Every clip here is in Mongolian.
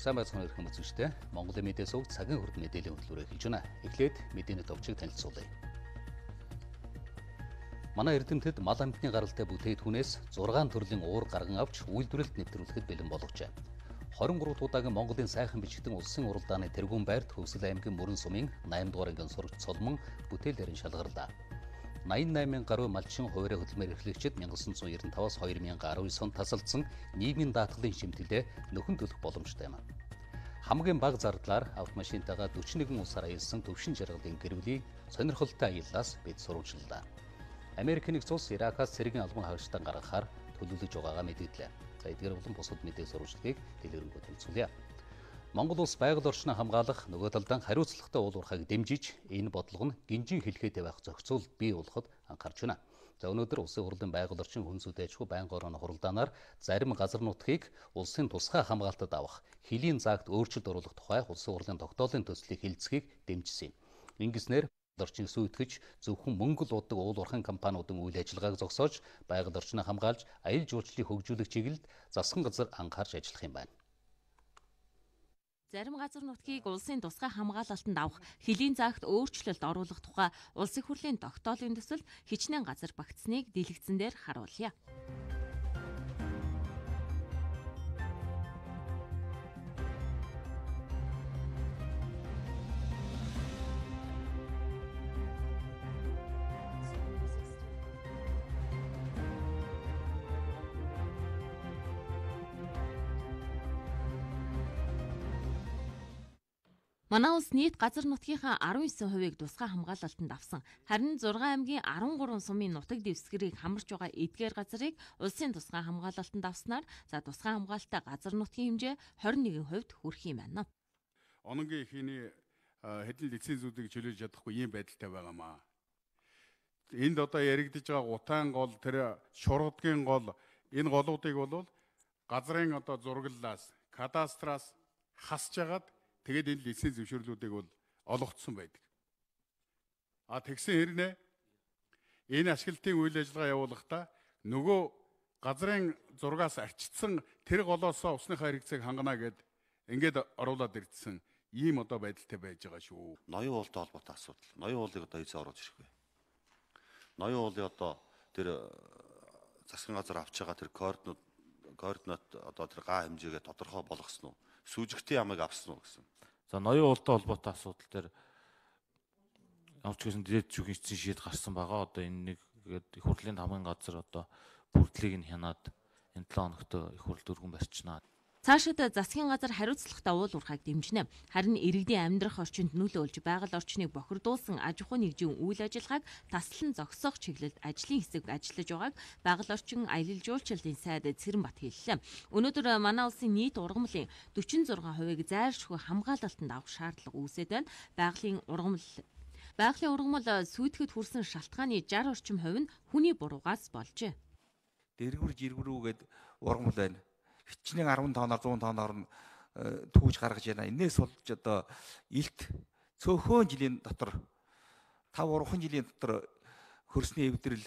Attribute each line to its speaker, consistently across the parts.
Speaker 1: Сайн байцгаана өрх хүмүүсттэй. Монголын мэдээ сувг цагийн хүрд мэдээллийн хөтөлбөрөөр эхэлж байна. Эхлээд мэдээний товчийг танилцуулъя. Манай эрдэмтэд мал амьтны гаралтай бүтээгдэхүүнээс 6 төрлийн уур гарган авч үйлдвэрлэлд нэвтрүүлэхэд бэлэн боловчээ. 23 дахь удаагийн Монголын сайхан бичигдэн улсын уралдааны тэргүүн байрт Хөвсөл аймгийн Мөрөн сумын 8 дугаар ангийн сурагч Цолмон бүтээлээрэн шалгарлаа. 88 гаруй малчин хуваарь хөдөлмөр эрхлэгчид 1995-аас 2019 онд тасалдсан нийгмийн даатгалын шимтгэлээ нөхөн төлөх боломжтой юм. Хамгийн бага зардлаар автомашинтайгаа 41 улсаар аялсан төвшин жаргалын гэрвлийг сонирхолтой аяллаас бид сурвалжлаа. Америк нэгдсэн улс Иракаас цэргийн албан хаагчдаа гаргахаар төлөвлөж байгаагаа мэдээллээ. За эдгээр болон бусад мэдээ сурвалжлагыг дэлгэрэнгүй танилцуулъя. Монгол улс байгаль орчноо хамгаалах нөгөө талдаа хариуцлагатай уул уурхайг дэмжиж энэ бодлого нь гинжин хэлхээтэй байх зохицуул бий болгоход анхаарч байна. За өнөөдөр улсын хурлын байгаль орчин хүнс үдэ аж ахуй байнгын орооны хуралдаанаар зарим газар нутгийг улсын тусгай хамгаалтад авах хөлийн заагт өөрчлөлт оруулах тухай улсын хурлын тогтоолын төслийг хэлэлцэхийг дэмжсэн юм. Ингэснээр орчин сүйтгэж зөвхөн мөнгө л удаг уул уурхайн компаниудын үйл ажиллагааг зогсоож байгаль орчноо хамгаалж аялал жуулчлалыг хөгжүүлэх чиглэлд засгийн газар анхаарч ажиллах юм байна.
Speaker 2: Зарим газар нутгийг улсын тусгай хамгаалалтанд авах хөлийн заагт өөрчлөлт оруулах тухай улсын хурлын тогтоолын төсөл хичнээн газар багтсныг дэлгэцэн дээр харуулъя. Манай улс нийт газар нутгийнхаа 19%-ийг тусгай хамгаалалтанд авсан. Харин 6 аймгийн 13 сумын нутаг дэвсгэрийг хамарч байгаа эдгээр газрыг улсын тусгай хамгаалалтанд авснаар тусгай хамгаалалттай газар нутгийн хэмжээ 21% хүрэх юм байна.
Speaker 3: Ононгийн ихний хэдэн лицензүүдийг чөлөөлж чадахгүй ийм байдалтай байгаамаа. Энд одоо яригдж байгаа гутаан гол, тэр шургадгийн гол, энэ голуудыг бол газрын одоо зураглалаас, кадастраас хасж агаад тэгээд энэ лиценз зөвшөөрлүүдийг бол олгогдсон байдаг. Тэгсэн хэрнээ энэ ашиглалтын үйл ажиллагаа явуулахдаа нөгөө газрын зургаас арчигдсан тэр голоосоо усныхаа хэрэгцээг хангана гэд ингээд оруулаад ирдсэн ийм одоо байдалтай байж байгаа шүү.
Speaker 4: Ноён уултай холбоотой асуудал. Ноён уулыг одоо эзэн оруулж ирэх вэ? Ноён уулын одоо тэр засгийн газар авч байгаа тэр координат одоо тэр га хэмжээгээ тодорхой болгосон уу? Сүүжигтийн ямыг авсан уу гэсэн.
Speaker 5: За ноён уултай холбоотой асуудал дээр ямар ч гэсэн дээд зүгийн эцсийн шийд гарсан байгаа. Одоо энэ нэг их хурлын хамгийн газар одоо бүрдлийг нь хянаад энэ 7 хоногт их хурл дөрвөн барьчнаа.
Speaker 2: Цаашид засгийн газар хариуцлагатай уул уурхайг дэмжинэ. Харин иргэдийн амьдрах орчинд нөлөөлж байгаль орчныг бохирдуулсан аж ахуй нэгжийн үйл ажиллагааг таслан зогсоох чиглэлд ажлын хэсэг ажиллаж байгааг байгаль орчин аялал жуулчлалын сайд Цэрэнбат хэллээ. Өнөөдөр манай улсын нийт ургамлын 46%-ийг зайлшгүй хамгаалалтанд авах шаардлага үүсээд байна. Байгалийн ургамал сүйтгэд хүрсэн шалтгааны 60 орчим хувь нь хүний буруугаас болжээ.
Speaker 6: Дэргүрүүгээд ургамал байна. Хичнээн 10 тоноор 100 тоноор нь түүж гаргаж байна. Энээс болж одоо илт цөөхөн жилийн дотор 5-3 жилийн дотор хөрсний эвдрэл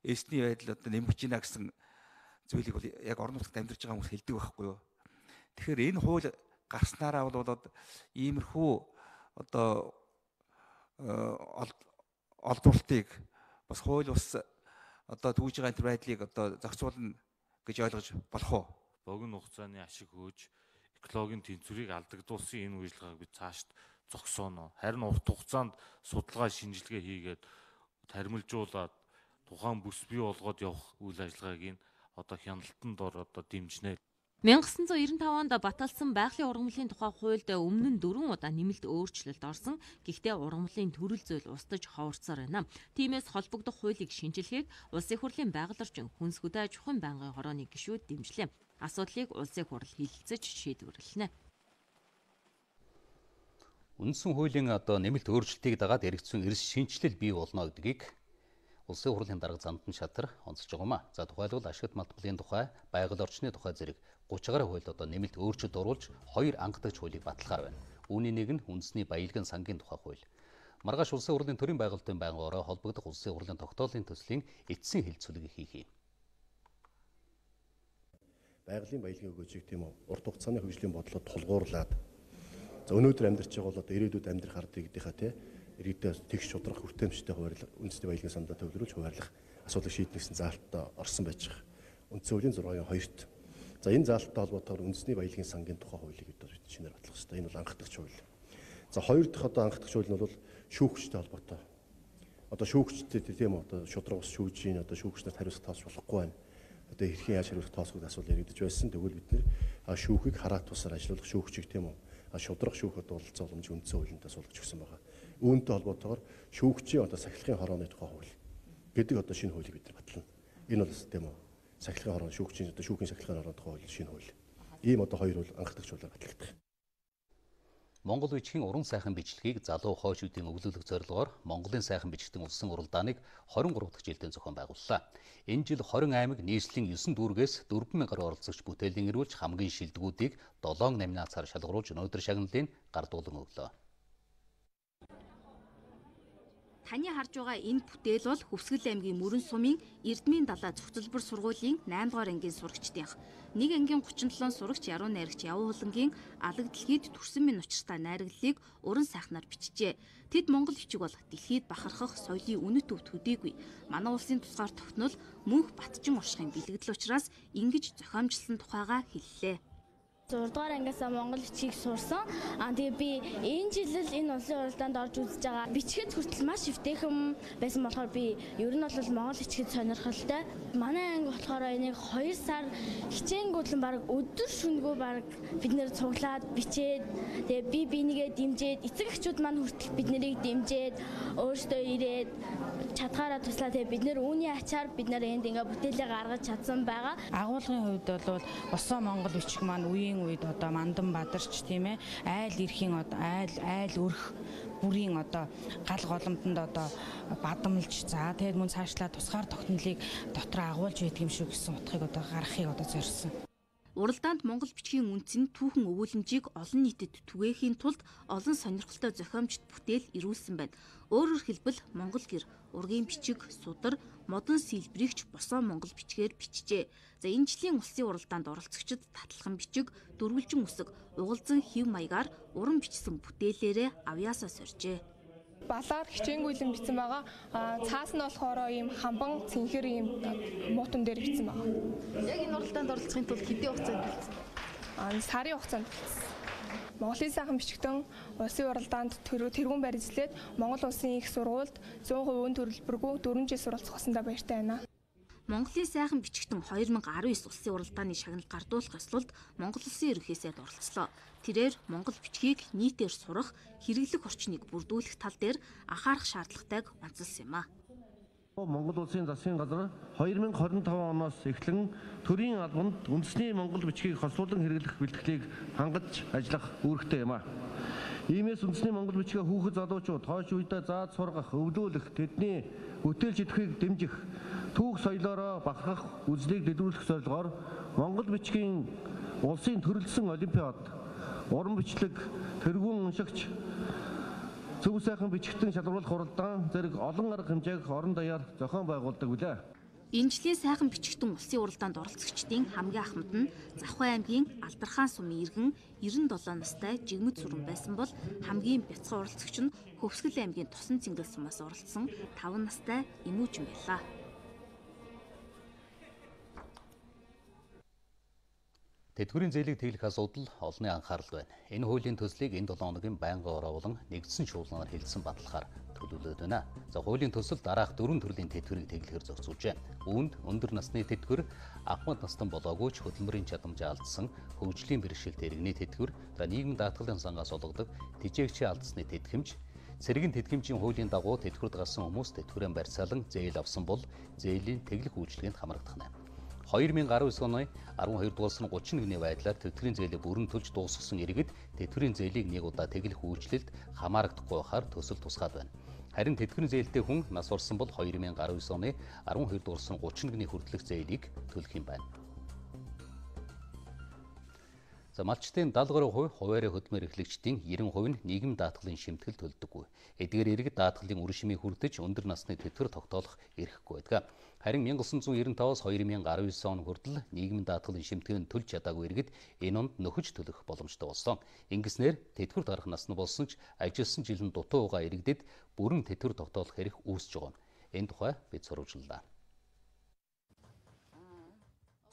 Speaker 6: эсний байдал одоо нэмэгч гинэ гэсэн зүйлийг бол яг орон нутагт амьдарч байгаа хүмүүс хэлдэг байхгүй юу. Тэгэхээр энэ хууль гарснараа бол иймэрхүү одоо олдволтыг бас хууль ус одоо түүж байгаа энэ байдлыг одоо зохицуулна гэж ойлгож болох уу?
Speaker 5: Богино хугацааны ашиг хөөж экологийн тэнцвэрийг алдагдуулсан энэ үйл ажиллагааг бид цаашд зогсооно. Харин урт хугацаанд судалгаа шинжилгээ хийгээд таримлжуулаад тухайн бүс бий болгоод явах үйл ажиллагааг одоо хяналтанд одоо дэмжинэ.
Speaker 2: 1995 онд баталсан байгалийн ургамлын тухай хуульд өмнө нь 4 удаа нэмэлт өөрчлөлт орсон. Гэхдээ ургамлын төрөл зүйл устж ховорцоор байна. Тиймээс холбогдох хуулийг шинжилгээг улсын хурлын байгаль орчин хүнс үдэ аж ахуйн байнгын хорооны гишүүд дэмжлээ. Асуудлыг улсын хурл хэлэлцэж шийдвэрлэнэ.
Speaker 1: Үндсэн хуулийн одоо нэмэлт өөрчлөлтийг дагаад эргэцсэн эрс шинжилэл бий болно гэдгийг улсын хурлын дарга Зандан Шатар онцолж байгаа юм. За тухайлбал ашигт малтмалын тухай, байгаль орчны тухай зэрэг 30 гаруй хуульд одоо нэмэлт өөрчлөлт оруулж 2 ангидагч хуулийг баталгаар байна. Үүний нэг нь үндэсний баялагын сангийн тухай хууль. Маргааш улсын хурлын төрийн байгуулалтын байнгын ороо холбогдох улсын хурлын тогтоолын төслийн эцсийн хэлэлцүүлгийг хийх юм.
Speaker 7: байгалийн баялагын өгөөжийг тийм үү урт хугацааны хөгжлийн бодлоод тулгуурлаад за өнөөдөр амьдарч байгаа бол одоо ирээдүйд амьдрах ард иргэдийнхаа тий иргэдээс тэгш шудрах хүртээмжтэй хуваарлах үндэсний баялагын сандаа төвлөрүүлж хуваарлах асуудлыг шийднэ гэсэн заалтаа орсон байж байгаа. Үндсэн хуулийн 6-2-т. За энэ заалттай холбоотойгоор үндэсний баялагын сангийн тухай хуулийг одоо шинээр батлах хэрэгтэй. Энэ бол анхдагч хууль. За хоёр дахь одоо анхдагч хууль нь бол шүүгчтэй холбоотой. Одоо шүүгчтэй тийм үү одоо шудраг ус шүүжийн одоо шүүгчнэрт хариуцлага тоосч болохгүй байна. Одоо хэрхэн яаж хариуцлага тоосох гэдэг асуулт яригдж байсан. Тэгвэл бид нэр шүүхийг хараат тусаар ажиллуулах шүүгчийг тийм үү шудрах шүүхэд уулзах боломж үндсэн хуулиндаа суулгаж өгсөн байгаа. Үүнтэй холбоотойгоор шүүгчийн одоо сахилгын хорооны тухай хууль гэдэг одоо шинэ хуулийг бид нар батлана. Энэ бол тийм үү сахилгын хороо шүүгчийн одоо шүүхийн сахилгын хорооны тухай хууль шинэ хууль. Ийм одоо хоёр бол анхдагч хуулиар батлагдах.
Speaker 1: Монгол бичгийн уран сайхан бичлэгийг залуу хойшүүдийн өвлүүлэх зорилгоор Монголын сайхан бичгтэн улсын уралдааныг 23 дахь жилдээ зохион байгууллаа. Энэ жил 20 аймаг нийслэлийн 9 дүүргээс 4,000 гаруй оролцогч бүтээлийн ирүүлж хамгийн шилдэгүүдийг 7 номинацаар шалгаруулж өнөөдөр шагналын гардуулан өглөө.
Speaker 8: Таны харж байгаа энэ бүтээл бол Хөвсгөл аймгийн Мөрөн сумын Эрдмийн далай цогцлбор сургуулийн 8 дугаар ангийн сурагчдынх. Нэг ангийн 37 сурагч яруу найрагч Явуу Хулангийн алаг дэлхийд төрсөн минь учиртай найраглалыг уран сайхнаар бичжээ. Тэд Монгол бичиг бол дэлхийд бахархах соёлын үнэт төв төдийгүй. Манай улсын тусгаар тогтнол мөнх батчин уршихын бэлэгдэл учраас ингэж зохиомжлсон тухайгаа хэллээ.
Speaker 9: 6 дугаар ангиасаа монгол бичгийг сурсан. Тэгээ би энэ жил энэ улсын уралдаанд орж үзэж байгаа. Бичгэд хүртэл маш эвтэйхэн байсан болохоор би ер нь бол монгол бичгэд сонирхолтой. Манай анги болохоор энийг 2 сар хичээнгүүтлэн баг өдөр шөнөгүй баг бид нэр цуглаад бичээд тэгээ би бинийгээ дэмжээд эцэг эхчүүд маань хүртэл бид нарыг дэмжээд өөрсдөө ирээд чадхаараа туслаа. Тэгээ бид нэр үүний ачаар бид нэр энд ингээ бүтээлээ гаргаж чадсан байгаа.
Speaker 10: Агуулгын хувьд бол босоо монгол бичиг маань үеийн үед одоо мандан бадарч тийм ээ айл эрхийн одоо айл өрх бүрийн одоо гал голомтонд одоо бадамлж за тэгээд мөн цаашлаа тусгаар тогтнолыг дотор агуулж байдаг юм шүү гэсэн утгыг одоо гаргахыг одоо зорьсон.
Speaker 8: Уралдаанд монгол бичгийн үндэс нь түүхэн өвүүлэмжийг олон нийтэд түгээхийн тулд олон сонирхолтой зохиомжит бүтээл ирүүлсэн байна. Өөрөөр хэлбэл монгол гэр ургийн бичиг, судар, модон сэлбэрэгч босоо монгол бичгээр бичжээ. За энэ жилийн улсын уралдаанд оролцогчид татлахын бичиг, дөрвөлжин үсэг, угалзан хэв маягаар уран бичсэн бүтээлээрээ авьяасаа соржээ.
Speaker 11: Балаар хичээнгүйлэн бичсэн байгаа. Цаас нь болохоор ийм хамбан цэнхэр ийм муутан дээр бичсэн байгаа.
Speaker 8: Яг энэ уралдаанд оролцохын тулд хэдийн хугацаанд бичсэн?
Speaker 11: Сарын хугацаанд бичсэн. Монголын сайхан бичгтэн улсын уралдаанд тэргүүн барьжлээд Монгол улсын их сургуульд 100% өн төрөлбөргүй 4 жил суралцах болсондоо баяртай байна.
Speaker 8: Монголын сайхан бичгтэн 2019 улсын уралдааны шагнал гардуулах ёслолд Монгол улсын ерөнхий сайд оролцлоо. Тэрээр монгол бичгийг нийтээр сурах, хэрэглэх орчныг бүрдүүлэх тал дээр анхаарах шаардлагатайг онцлсан юм а.
Speaker 12: Монгол улсын засгийн газар 2025 оноос эхлэн төрийн албанд үндэсний монгол бичгийг хослуулан хэрэглэх бэлтгэлийг хангаж ажиллах үүрэгтэй юм а. Иймээс үндэсний монгол бичгээ хүүхэд залуучууд хойш үедээ зааж сургах, өвлүүлэх, тэдний бүтээл жетвхийг дэмжих, түүх соёлоороо бахархах үзлийг дэвшүүлэх зорилгоор монгол бичгийн улсын төрөлсөн олимпиад, уран бичлэг, тэргүүн уншигч, зөв сайхан бичгтэн шалгаруулах уралдаан зэрэг олон арга хэмжээх орон даяар зохион байгуулдаг билээ.
Speaker 8: Энэ жилийн сайхан бичгтэн улсын уралдаанд оролцогчдын хамгийн ахмад нь Завхай аймгийн Алдархан сумын иргэн 97 настай Жигмэд Сүрэн байсан бол хамгийн бяцхан оролцогч нь Хөвсгөл аймгийн Тусан Цэнгэл сумаас оролцсон 5 настай Эмүүжин байлаа.
Speaker 1: Тэтгэврийн зээлийг тэглэх асуудал олонний анхаарал байна. Энэ хуулийн төслийг энэ 7 хоногийн байнгын ороолон нэгдсэн шуулганаар хэлсэн баталгаар төлөвлөд байна. За хуулийн төсөл дараах 4 төрлийн тэтгэврийг тэглэхээр зохицуулжээ. Үүнд өндөр насны тэтгэвэр, ахмад настан болоогүй ч хөдөлмөрийн чадамжаа алдсан хөгжлийн бэрхшээлтэй иргэний тэтгэвэр, за нийгмийн даатгалын сангаас олгодог тэжээгчийн алдсны тэтгэмж, цэргийн тэтгэмжийн хуулийн дагуу тэтгэврт гарсан хүмүүс тэтгэврээ барьцаалан зээл авсан бол зээлийн тэглэх үйлчилгээнд хамрагдах нь. 2019 оны 12 дугаар сарын 31-ний байдлаар тэтгэврийн зээлийг бүрэн төлж дуусгасан иргэд тэтгэврийн зээлийг нэг удаа тэглэх үйлчлэлд хамаарагдахгүй байхаар төсөл тусгаад байна. Харин тэтгэврийн зээлтэй хүн нас орсон бол 2019 оны 12 дугаар сарын 31-ний хүртэлх зээлийг төлөх юм байна. За малчтын 70% хуваарь хөдөлмөр эрхлэгчдийн 90% нь нийгэм даатгалын шимтгэл төлдөггүй. Эдгээр иргэд даатгалын үр шимийг хүртэж өндөр насны тэтгэвэр тогтоолох эрхгүй байдаг. Харин 1995-аас 2019 он хүртэл нийгэм даатгалын шимтгэл нь төлж чадаагүй иргэд энэ онд нөхөж төлөх боломжтой болсон. Ингэснээр тэтгэвэр гарах насны болсон ч ажилласан жил нь дутуу угаа иргэдэд бүрэн тэтгэвэр тогтоолох эрх үүсэж байгаа. Энэ тухай бид сурвалжлаа.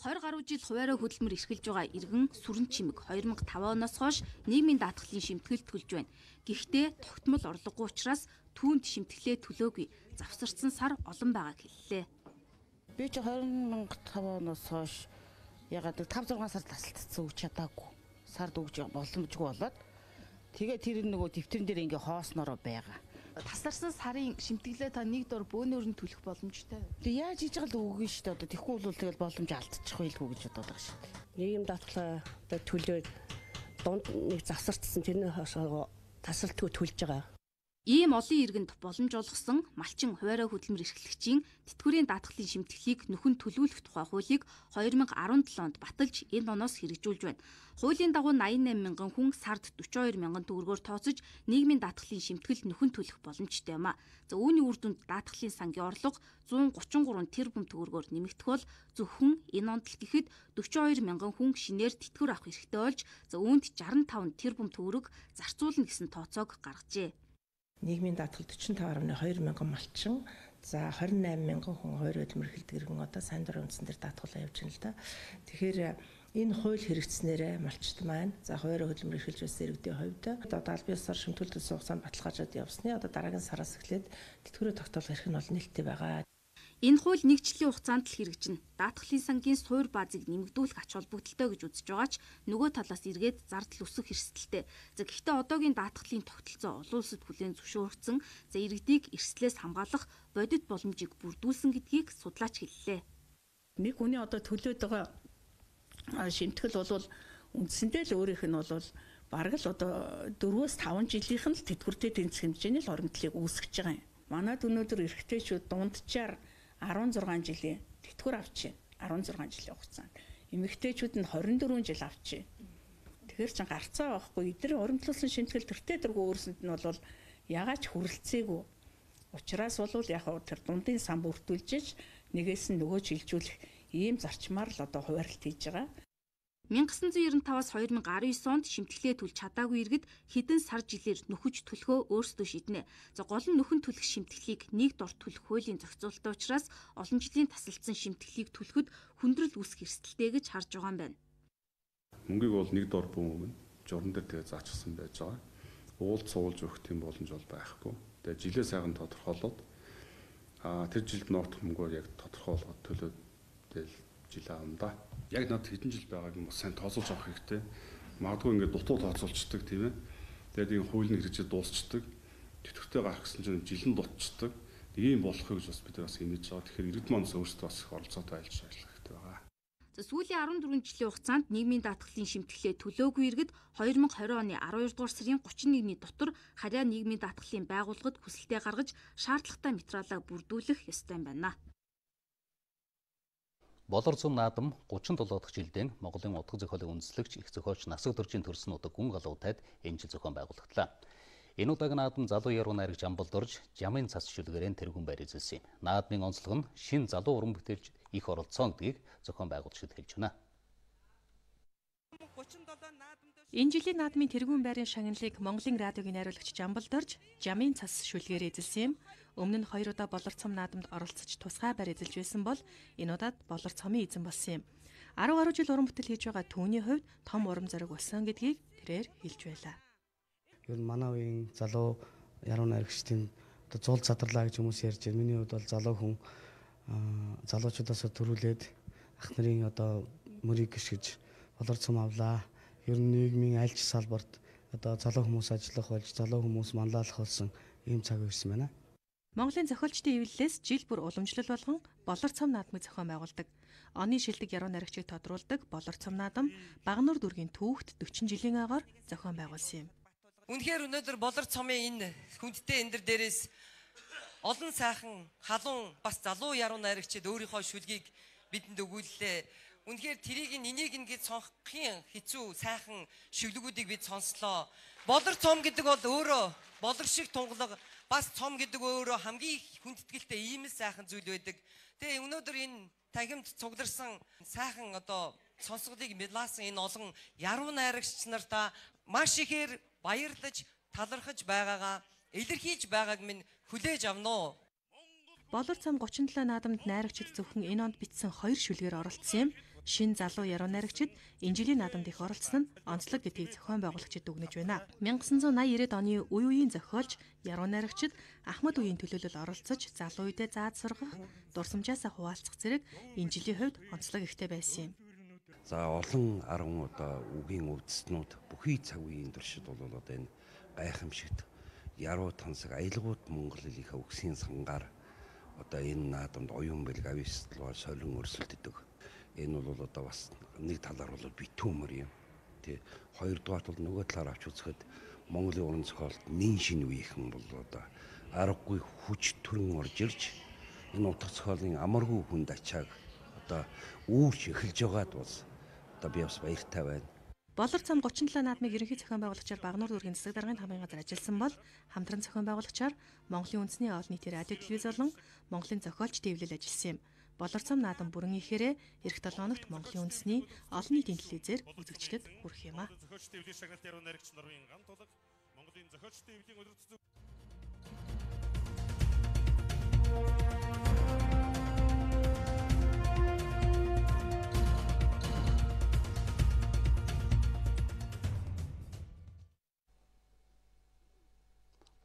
Speaker 8: 20 гаруй жил хуваарь хөдөлмөр эрхэлж байгаа иргэн Сүрэн Чимэг 2005 оноос хойш нийгмийн даатгалын шимтгэлд төлж байна. Гэхдээ тогтмол орлогогүй учраас түүнд шимтгэлээ төлөөгүй. Завсарсан сар олон байгааг хэллээ.
Speaker 13: Би ч 2005 оноос хойш ягаад 5-6 сар тасалдсан үг чадаагүй. Сард өгж боломжгүй болоод тэгээ тэр нөгөө дэвтэрэн дээр ингээ хоосноороо байгаа.
Speaker 14: Тасарсан сарын шимтгэлээ та нэг дор бөөнөр нь төлөх боломжтой.
Speaker 13: Тэгээ яаж хийж байгаа л үгүй шүү дээ. Одоо тэхгүй бол тэгэл боломж алдчих байлгүй гэж бодоод байгаа шүү дээ.
Speaker 15: Нийгэм даатгалаа төлөөд дунд нэг завсартсан тэрний хашаа тасралтгүй төлж байгаа.
Speaker 8: Ийм олон иргэнд боломж олгосон малчин хуваарь хөдөлмөр эрхлэгчийн тэтгэврийн даатгалын шимтгэлийг нөхөн төлөвлөх тухай хуулийг 2017 онд баталж энэ оноос хэрэгжүүлж байна. Хуулийн дагуу 88 мянган хүн сард 42 мянган төгрөгөөр тооцож нийгмийн даатгалын шимтгэл нөхөн төлөх боломжтой юм а. За үүний үр дүнд даатгалын сангийн орлого 133 тэрбум төгрөгөөр нэмэгдэх бол зөвхөн энэ онд л гэхэд 42 мянган хүн шинээр тэтгэвэр авах эрхтэй болж за үүнд 65 тэрбум төгрөг зарцуулна гэсэн тооцоог гаргажээ.
Speaker 16: Нийгмийн даатгал 45.2 мянган малчин, за 28 мянган хүн хуваарь хөдөлмөр эрхэлдэг иргэн одоо сайн дурын үндсэн дээр даатгалаа явж байна л да. Тэгэхээр энэ хууль хэрэгжснээрээ малчт маань за хуваарь хөдөлмөр эрхэлж байсан иргэдийн хувьд одоо албан ёсоор шимтгэлт төлсөн хугацаанд баталгаажаад явсны одоо дараагийн сараас эхлээд тэтгэврээ тогтоолох эрх нь бол нээлттэй байгаа.
Speaker 8: Энэ хууль нэг жилийн хугацаанд л хэрэгжинэ. Даатгалын сангийн суур баазыг нэмэгдүүлэх ач холбогдолтой гэж үзэж байгаа ч нөгөө талаас эргээд зардал өсөх эрсдэлтэй. За гэхдээ одоогийн даатгалын тогтолцоо олон улсад хүлээн зөвшөөрөгдсөн. За иргэдийг эрсдлээс хамгаалах бодит боломжийг бүрдүүлсэн гэдгийг судлаач хэллээ.
Speaker 17: Нэг хүний одоо төлөөд байгаа шимтгэл бол үндсэндээ л өөрийнх нь бол бараг л одоо 4-5 жилийнх нь л тэтгэвртэй тэнцэх хэмжээний л оромтлыг үүсгэж байгаа юм. Манайд өнөөдөр эрэгтэйчүүд дунджаар 16 жилийн тэтгэвэр авч байна. 16 жилийн хугацаанд. Эмэгтэйчүүд нь 24 жил авч байна. Тэгэхээр ч гарцаа байхгүй. Эдгээр урамтлуулсан шимтгэл төртэй дөрвөө өөрсөнд нь бол ягач хүрэлцээгүй. Учираас бол яг тэр дундын сан бүртүүлж нэгээс нь нөгөө шилжүүлэх ийм зарчмаар л одоо хуваарлт хийж байгаа.
Speaker 8: 1995-аас 2019 онд шимтгэлээ төлж чадаагүй иргэд хэдэн сар жилээр нөхөж төлөхөө өөрсдөө шийднэ. За гол нь нөхөн төлөх шимтгэлийг нэг дор төлөх хуулийн зохицуулалттай учраас олон жилийн тасалдсан шимтгэлийг төлөхөд хүндрэл үүсэх эрсдэлтэй гэж харж байгаа юм байна.
Speaker 3: Мөнгийг бол нэг дор бүүн өгнө. Журам дээр тэгээ заачсан байж байгаа. Уулд суулж өгөх тийм боломж бол байхгүй. Тэгээ жилээ сайхан тодорхойлоод тэр жилд ноотх мөнгөөр яг тодорхойлоод төлөөд тэгэл жил аамда. Яг над хэдэн жил байгааг нь бас сайн тооцоолж авах хэрэгтэй. Магадгүй ингээд дутуу тооцоолцдог тийм ээ. Тэгээд энэ хуулийн хэрэгжил дуусчдаг. Тэтгэвртэй гарах гэсэн чинь жилэн дутчдаг. Ийм болохыг гэж бас бид бас хэмнэж байгаа. Тэгэхээр иргэд маань өөрсдөө бас их оролцоотой ажиллаж хэрэгтэй байгаа.
Speaker 8: За сүүлийн 14 жилийн хугацаанд нийгмийн даатгалын шимтгэлээ төлөөгүй иргэд 2020 оны 12 дугаар сарын 31-ний дотор харьяа нийгмийн даатгалын байгууллагад хүсэлтээ гаргаж шаардлагатай материалаа бүрдүүлэх ёстой юм байна.
Speaker 1: Болор зам наадам 37 дахь жилдээ Монголын утга зохиолын үндэслэгч их зохиолч Насаг Дөржийн төрсөн удаг гүн галуутайд энэ жил зохион байгуулагдлаа. Энэ удаагийн наадам залуу яруу найрагч Амбал Дорж жамын цас шүлгээрэн тэргүүн байр эзэлсэн юм. Наадмын онцлог нь шин залуу уран бүтээлч их оролцсон гэдгийг зохион байгуулагчид хэлж байна.
Speaker 18: Энэ жилийн наадмын тэргүүн байрын шагналыг Монголын радиогийн найруулагч Амбал Дорж жамын цас шүлгээр эзэлсэн юм. Өмнө нь 2 удаа болор цом наадамд оролцож тусгай байр эзэлж байсан бол энэ удаад болор цомын эзэн болсон юм. 10 гаруй жил уран бүтээл хийж байгаа түүний хувьд том урам зориг болсон гэдгийг тэрээр хэлж байлаа.
Speaker 19: Ер нь манай үеийн залуу яруу найрагчдын одоо зул задарлаа гэж хүмүүс ярьж байна. Миний хувьд бол залуу хүн залуучуудаас төрүүлээд ах нарын одоо мөрийг гიშгэж болор цом авлаа. Ер нь нийгмийн аль ч салбарт одоо залуу хүмүүс ажиллах болж залуу хүмүүс манлайлах болсон ийм цаг ирсэн байна.
Speaker 18: Монголын зохиолчдын эвлэлээс жил бүр уламжлал болгон болор цом наадмыг зохион байгуулдаг. Оны шилдэг яруу найрагчийг тодруулдаг болор цом наадам Багнуур дүүргийн түүхт 40 жилийн агаар зохион байгуулсан юм.
Speaker 20: Үнэхээр өнөөдөр болор цомын энэ хүндтэй эндэр дээрээс олон сайхан халуун бас залуу яруу найрагчид өөрийнхөө шүлгийг бидэнд өгүүллээ. Үнэхээр тэрийг энийг ингээд сонсохын хэцүү сайхан шүлгүүдийг бид сонслоо. Болор цом гэдэг бол өөрөө болор шиг тунгалаг бас цом гэдэг өөрөө хамгийн хүндэтгэлтэй ийм л сайхан зүйл байдаг. Тэгээ өнөөдөр энэ тахимд цугларсан сайхан одоо сонсголыг мэдлаасан энэ олон яруу найрагч нартаа маш ихээр баярлаж талархаж байгаагаа илэрхийлж байгааг минь хүлээж авна уу.
Speaker 18: Болор цам 37 наадамд найрагчид зөвхөн энэ онд бичсэн 2 шүлгээр оролцсон юм. Шин залуу яруу найрагчид энэ жилийн наадамд их оролцсон нь онцлог гэдгийг зохион байгуулагчид дүгнэж байна. 1980-90-ад оны үе үеийн зохиолч яруу найрагчид Ахмад үеийн төлөөлөл оролцож залуу үедээ зааж сургах, дурсамжаасаа хуваалцах зэрэг энэ жилийн хувьд онцлог ихтэй байсан юм.
Speaker 21: За олон 10 одоо үгийн өвдснүүд бүхий цаг үеийн туршид бол одоо энэ гайхамшигт яруу тансаг аялгууд Монгол хэлийнхээ үгсийн сангаар одоо энэ наадамд оюун бэлэг авьяастлаар солин өрсөлдөдөг. Энэ бол одоо бас нэг талаар бол битүүмэр юм. Тэ хоёрдугаар бол нөгөө талаар авч үзэхэд Монголын уран зохиолд нэн шин үеийнхэн бол одоо аргагүй хүч төрөн орж ирж энэ утга зохиолын амаргүй хүнд ачааг одоо үүрч эхэлж байгаад бол одоо би бас баяртай байна.
Speaker 18: Болор цам 37 наадмыг ерөнхий зохион байгуулагчаар Багнуур дүүргийн засаг даргын хамгаалгын газар ажилласан бол хамтран зохион байгуулагчаар Монголын үндэсний олон нийтийн радио телевиз болон Монголын зохиолч дэвлэл ажилласан юм. Болор цам наадам бүрэн ихээр эх 7 хоногт Монголын үндэсний олон нийтийн телевизээр үзэгчдэд хүрэх юм а.
Speaker 22: Зохиолч дэвлийн шагналт яруу найрагч Норвегийн ган тулаг Монголын зохиолч дэвлийн өдөр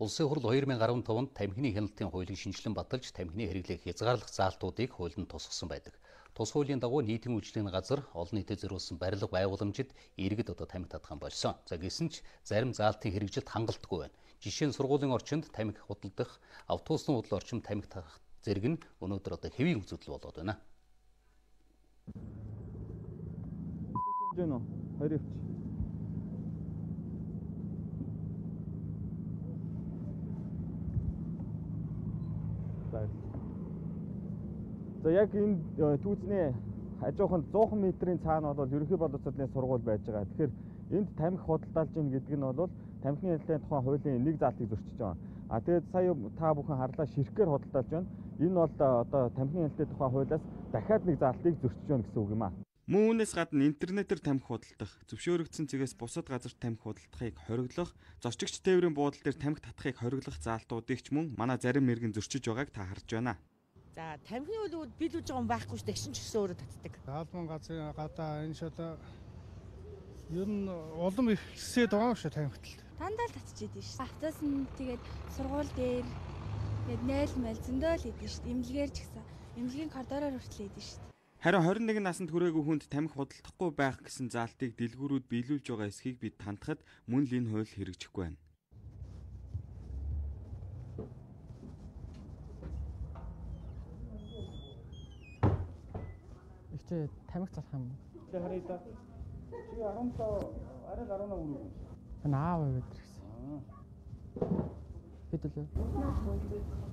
Speaker 1: Улсын хурл 2015 онд тамхины хяналтын хуулийг шинжилэн баталж тамхины хэрэглээг хязгаарлах заалтуудыг хуульд тусгасан байдаг. Тус хуулийн дагуу нийтийн үйлчлэгийн газар олон нийтэд зориулсан барилга байгууламжид иргэд одоо тамхи татхан болсон. За гэсэн ч зарим заалтын хэрэгжилт хангалтгүй байна. Жишээ нь сургуулийн орчинд тамхи худалдах, автобусны худал орчинд тамхи татах зэрэг нь өнөөдөр одоо хэвийн үзэгдэл болоод байна.
Speaker 23: За яг энэ түүцний хажууханд 100 метрийн цаана бол ерөнхий боловсролын сургууль байж байгаа. Тэгэхээр энд тамхи худалдаалж ийн гэдэг нь бол тамхины хяналтын тухай хуулийн нэг заалтыг зөрчиж байгаа. Тэгээд сая та бүхэн харлаа ширхгээр худалдаалж байна. Энэ бол одоо тамхины хяналтын тухай хуулиас дахиад нэг заалтыг зөрчиж байна гэсэн үг юм аа.
Speaker 6: Мөн үүнээс гадна интернетээр тамхи худалдах, зөвшөөрөгдсөн цэгээс бусад газарт тамхи худалдахыг хориглох, зорчигч тээврийн буудал дээр тамхи татахыг хориглох заалтуудыг ч мөн манай зарим мэргэн зөрчиж байгааг та харж байна.
Speaker 24: За тамхины үйл биелүүлж байгаа юм байхгүй шүү дээ. Гişин ч гэсэн өөрөө татдаг.
Speaker 25: Албан газрын гадаа энэ шода ер нь улам их хэсээд байгаа шүү тамхитал.
Speaker 9: Дандаа л татчихээд байна шүү. Автоос нь тэгээд сургууль дээр тэгээд найл мэл зөндөө л идэв шүү. Имлэгээр ч гэсэн имлэгийн коридороор хүртэл идэв шүү.
Speaker 6: Харин 21 наснд хүрээгүй хүнд тамхи худалдахгүй байх гэсэн заалтыг дэлгүүрүүд биелүүлж байгаа эсхийг бид тантахад мөн л энэ хууль хэрэгжихгүй байна.
Speaker 26: Ихтэй тамхи залах юм.
Speaker 23: Тэгээ харъя да. Чи 17 арай 18 үргэлж.
Speaker 26: Наав гэдэг гэсэн. Хэд л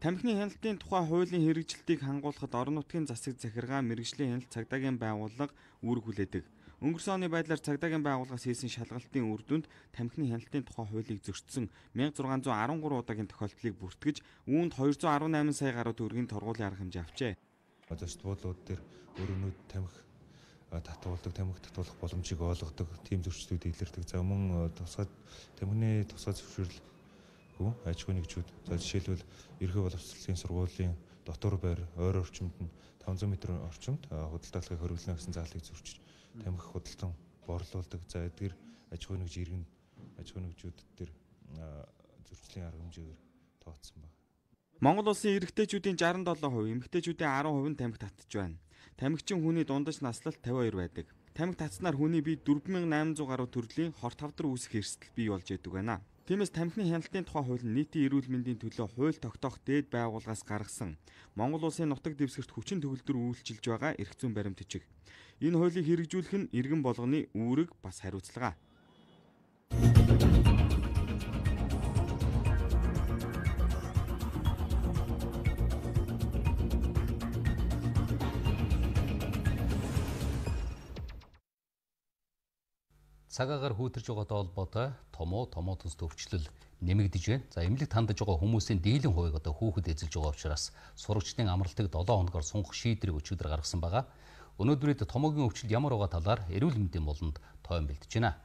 Speaker 6: Тамхины хяналтын тухай хуулийн хэрэгжилтийг хангуулахад орон нутгийн засаг захиргаа мэргэжлийн хяналт цагдаагийн байгууллага үүрэг хүлээдэг. Өнгөрсөн оны байдлаар цагдаагийн байгууллагаас хийсэн шалгалтын үр дүнд тамхины хяналтын тухай хуулийг зөрчсөн 1613 удаагийн тохиолдлыг бүртгэж үүнд 218 сая гаруй төгрөгийн торгуулийн арга хэмжээ авчээ.
Speaker 27: Зочд буудлууд дээр өрөөнүүд тамхи татуулдаг, тамхи татуулах боломжийг олгодог, тийм зөрчлүүд илэрдэг. За мөн тусгай тамхины тусгай зөвшөөрөл аж ахуйн нэгжүүд. За жишээлбэл ерхий боловсролын сургуулийн дотор байр ойр орчимд нь 500 м орчимд худалдаалахыг хориглоно гэсэн заалыг зөрчиж тамхи худалдан борлуулдаг. За эдгээр аж ахуйн нэгж иргэн аж ахуйн нэгжүүд дээр зөрчлийн арга хэмжээгээр тооцсон байна.
Speaker 6: Монгол улсын эрэгтэйчүүдийн 67%, эмэгтэйчүүдийн 10% нь тамхи татж байна. Тамхичин хүний дундаж наслалт 52 байдаг. Тамхи татснаар хүний бие 4800 гаруй төрлийн хорт хавдар үүсэх эрсдэл бий болж байдаг байна. Тиймээс тамхины хяналтын тухай хууль нь нийтийн эрүүл мэндийн төлөө хууль тогтоох дээд байгууллагаас гаргасан Монгол улсын нутаг дэвсгэрт хүчин төгөлдөр үйлчилж байгаа эрх зүйн баримт бичиг. Энэ хуулийг хэрэгжүүлэх нь иргэн болгоны үүрэг бас хариуцлага.
Speaker 1: Цагаагаар хүйтэрж байгаатай холбоотой томоо төстэй өвчлөл нэмэгдэж байна. За эмнэлэг тандаж байгаа хүмүүсийн дийлэн хувийг одоо хүүхэд эзэлж байгаа учраас сурагчдын амралтыг 7 хоногоор сунгах шийдвэрийг өчигдөр гаргасан байгаа. Өнөөдрөд томоогийн өвчлөл ямар байгаа талаар эрүүл мэндийн болонд тойм бэлдэж байна.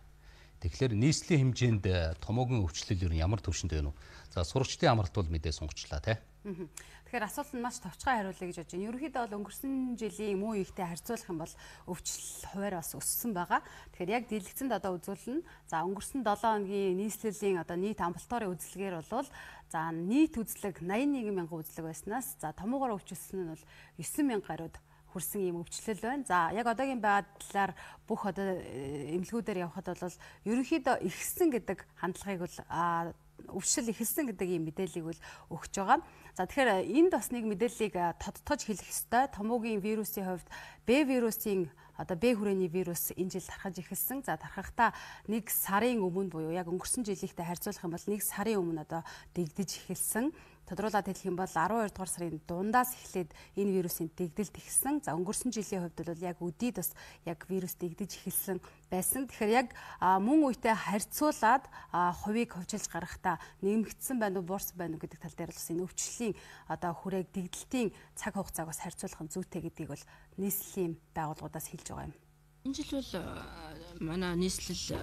Speaker 1: Тэгэхээр нийслэлийн хэмжээнд томоогийн өвчлөл ер нь ямар түвшинд байна вэ? За сурагчдын амралт бол мэдээ сунгачлаа тий.
Speaker 2: Тэгэхээр асуулт нь маш товчхон хариулъя гэж бодож байна. Ерөнхийдөө бол өнгөрсөн жилийн муу ихтэй харьцуулах юм бол өвчлөл хуваар бас өссөн байгаа. Тэгэхээр яг дийлэгцэнд одоо үзүүлнэ. За өнгөрсөн 7 хоногийн нийслэлийн одоо нийт амбулаторийн үзлэгээр бол за нийт үзлэг 81 мянган үзлэг байснаас за томоогоор өвчлсөн нь бол 9 мянга гаруйд хүрсэн ийм өвчлөл байна. За яг одоогийн байдлаар бүх одоо эмнэлгүүдээр явхад бол ерөнхийдөө ихсэн гэдэг хандлагыг бол өвчлөл ихэлсэн гэдэг ийм мэдээллийг бол өгч байгаа. За тэгэхээр энд бас нэг мэдээллийг тодтогч хэлэх ёстой. Томоогийн вирусын хувьд Б вирусын одоо Б хүрээний вирус энэ жил тархаж эхэлсэн. За тархахдаа 1 сарын өмнө буюу яг өнгөрсөн жилийнхтэй харьцуулах юм бол 1 сарын өмнө одоо дэгдэж эхэлсэн. Тодруулаад хэлэх юм бол 12 дугаар сарын дундаас эхлээд энэ вирусын дэгдэлт эхэлсэн. За өнгөрсөн жилийн хувьд бол яг өдийд бас яг вирус дэгдэж эхэлсэн байсан. Тэгэхээр яг мөн үетэй харьцуулаад хувийг хувьчилж гаргахдаа нэмэгдсэн байна уу, буурсан байна уу гэдэг тал дээр бас энэ өвчлөлийн одоо хүрээг дэгдэлтийн цаг хугацааг бас харьцуулах нь зүйтэй гэдгийг бол нийслэлийн байгууллагуудаас хэлж байгаа юм.
Speaker 4: Энэ жил бол манай нийслэл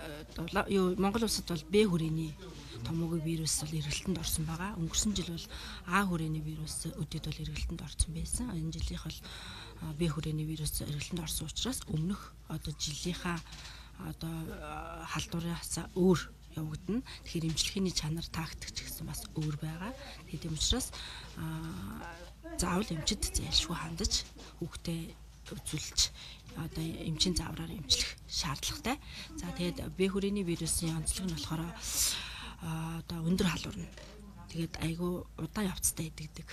Speaker 4: Монгол улсад бол Б хүрээний томоогийн вирус бол эргэлтэнд орсон байгаа. Өнгөрсөн жил бол А хүрээний вирус өдөрт бол эргэлтэнд орсон байсан. Энэ жилийнх бол Б хүрээний вирус эргэлтэнд орсон учраас өмнөх одоо жилийнхаа одоо халдвараас өөр явагдана. Тэгэхээр эмчилгээний чанар тактик ч гэсэн бас өөр байгаа. Тийм учраас заавал эмчид зайлшгүй хандаж хүүхдээ үзүүлж одоо эмчийн заавраар эмчлэх шаардлагатай. За тэгээд Б хүрээний вирусын онцлог нь болохоор одоо өндөр халуурна. Тэгээд айгүй удаан явцтай идэгдэг.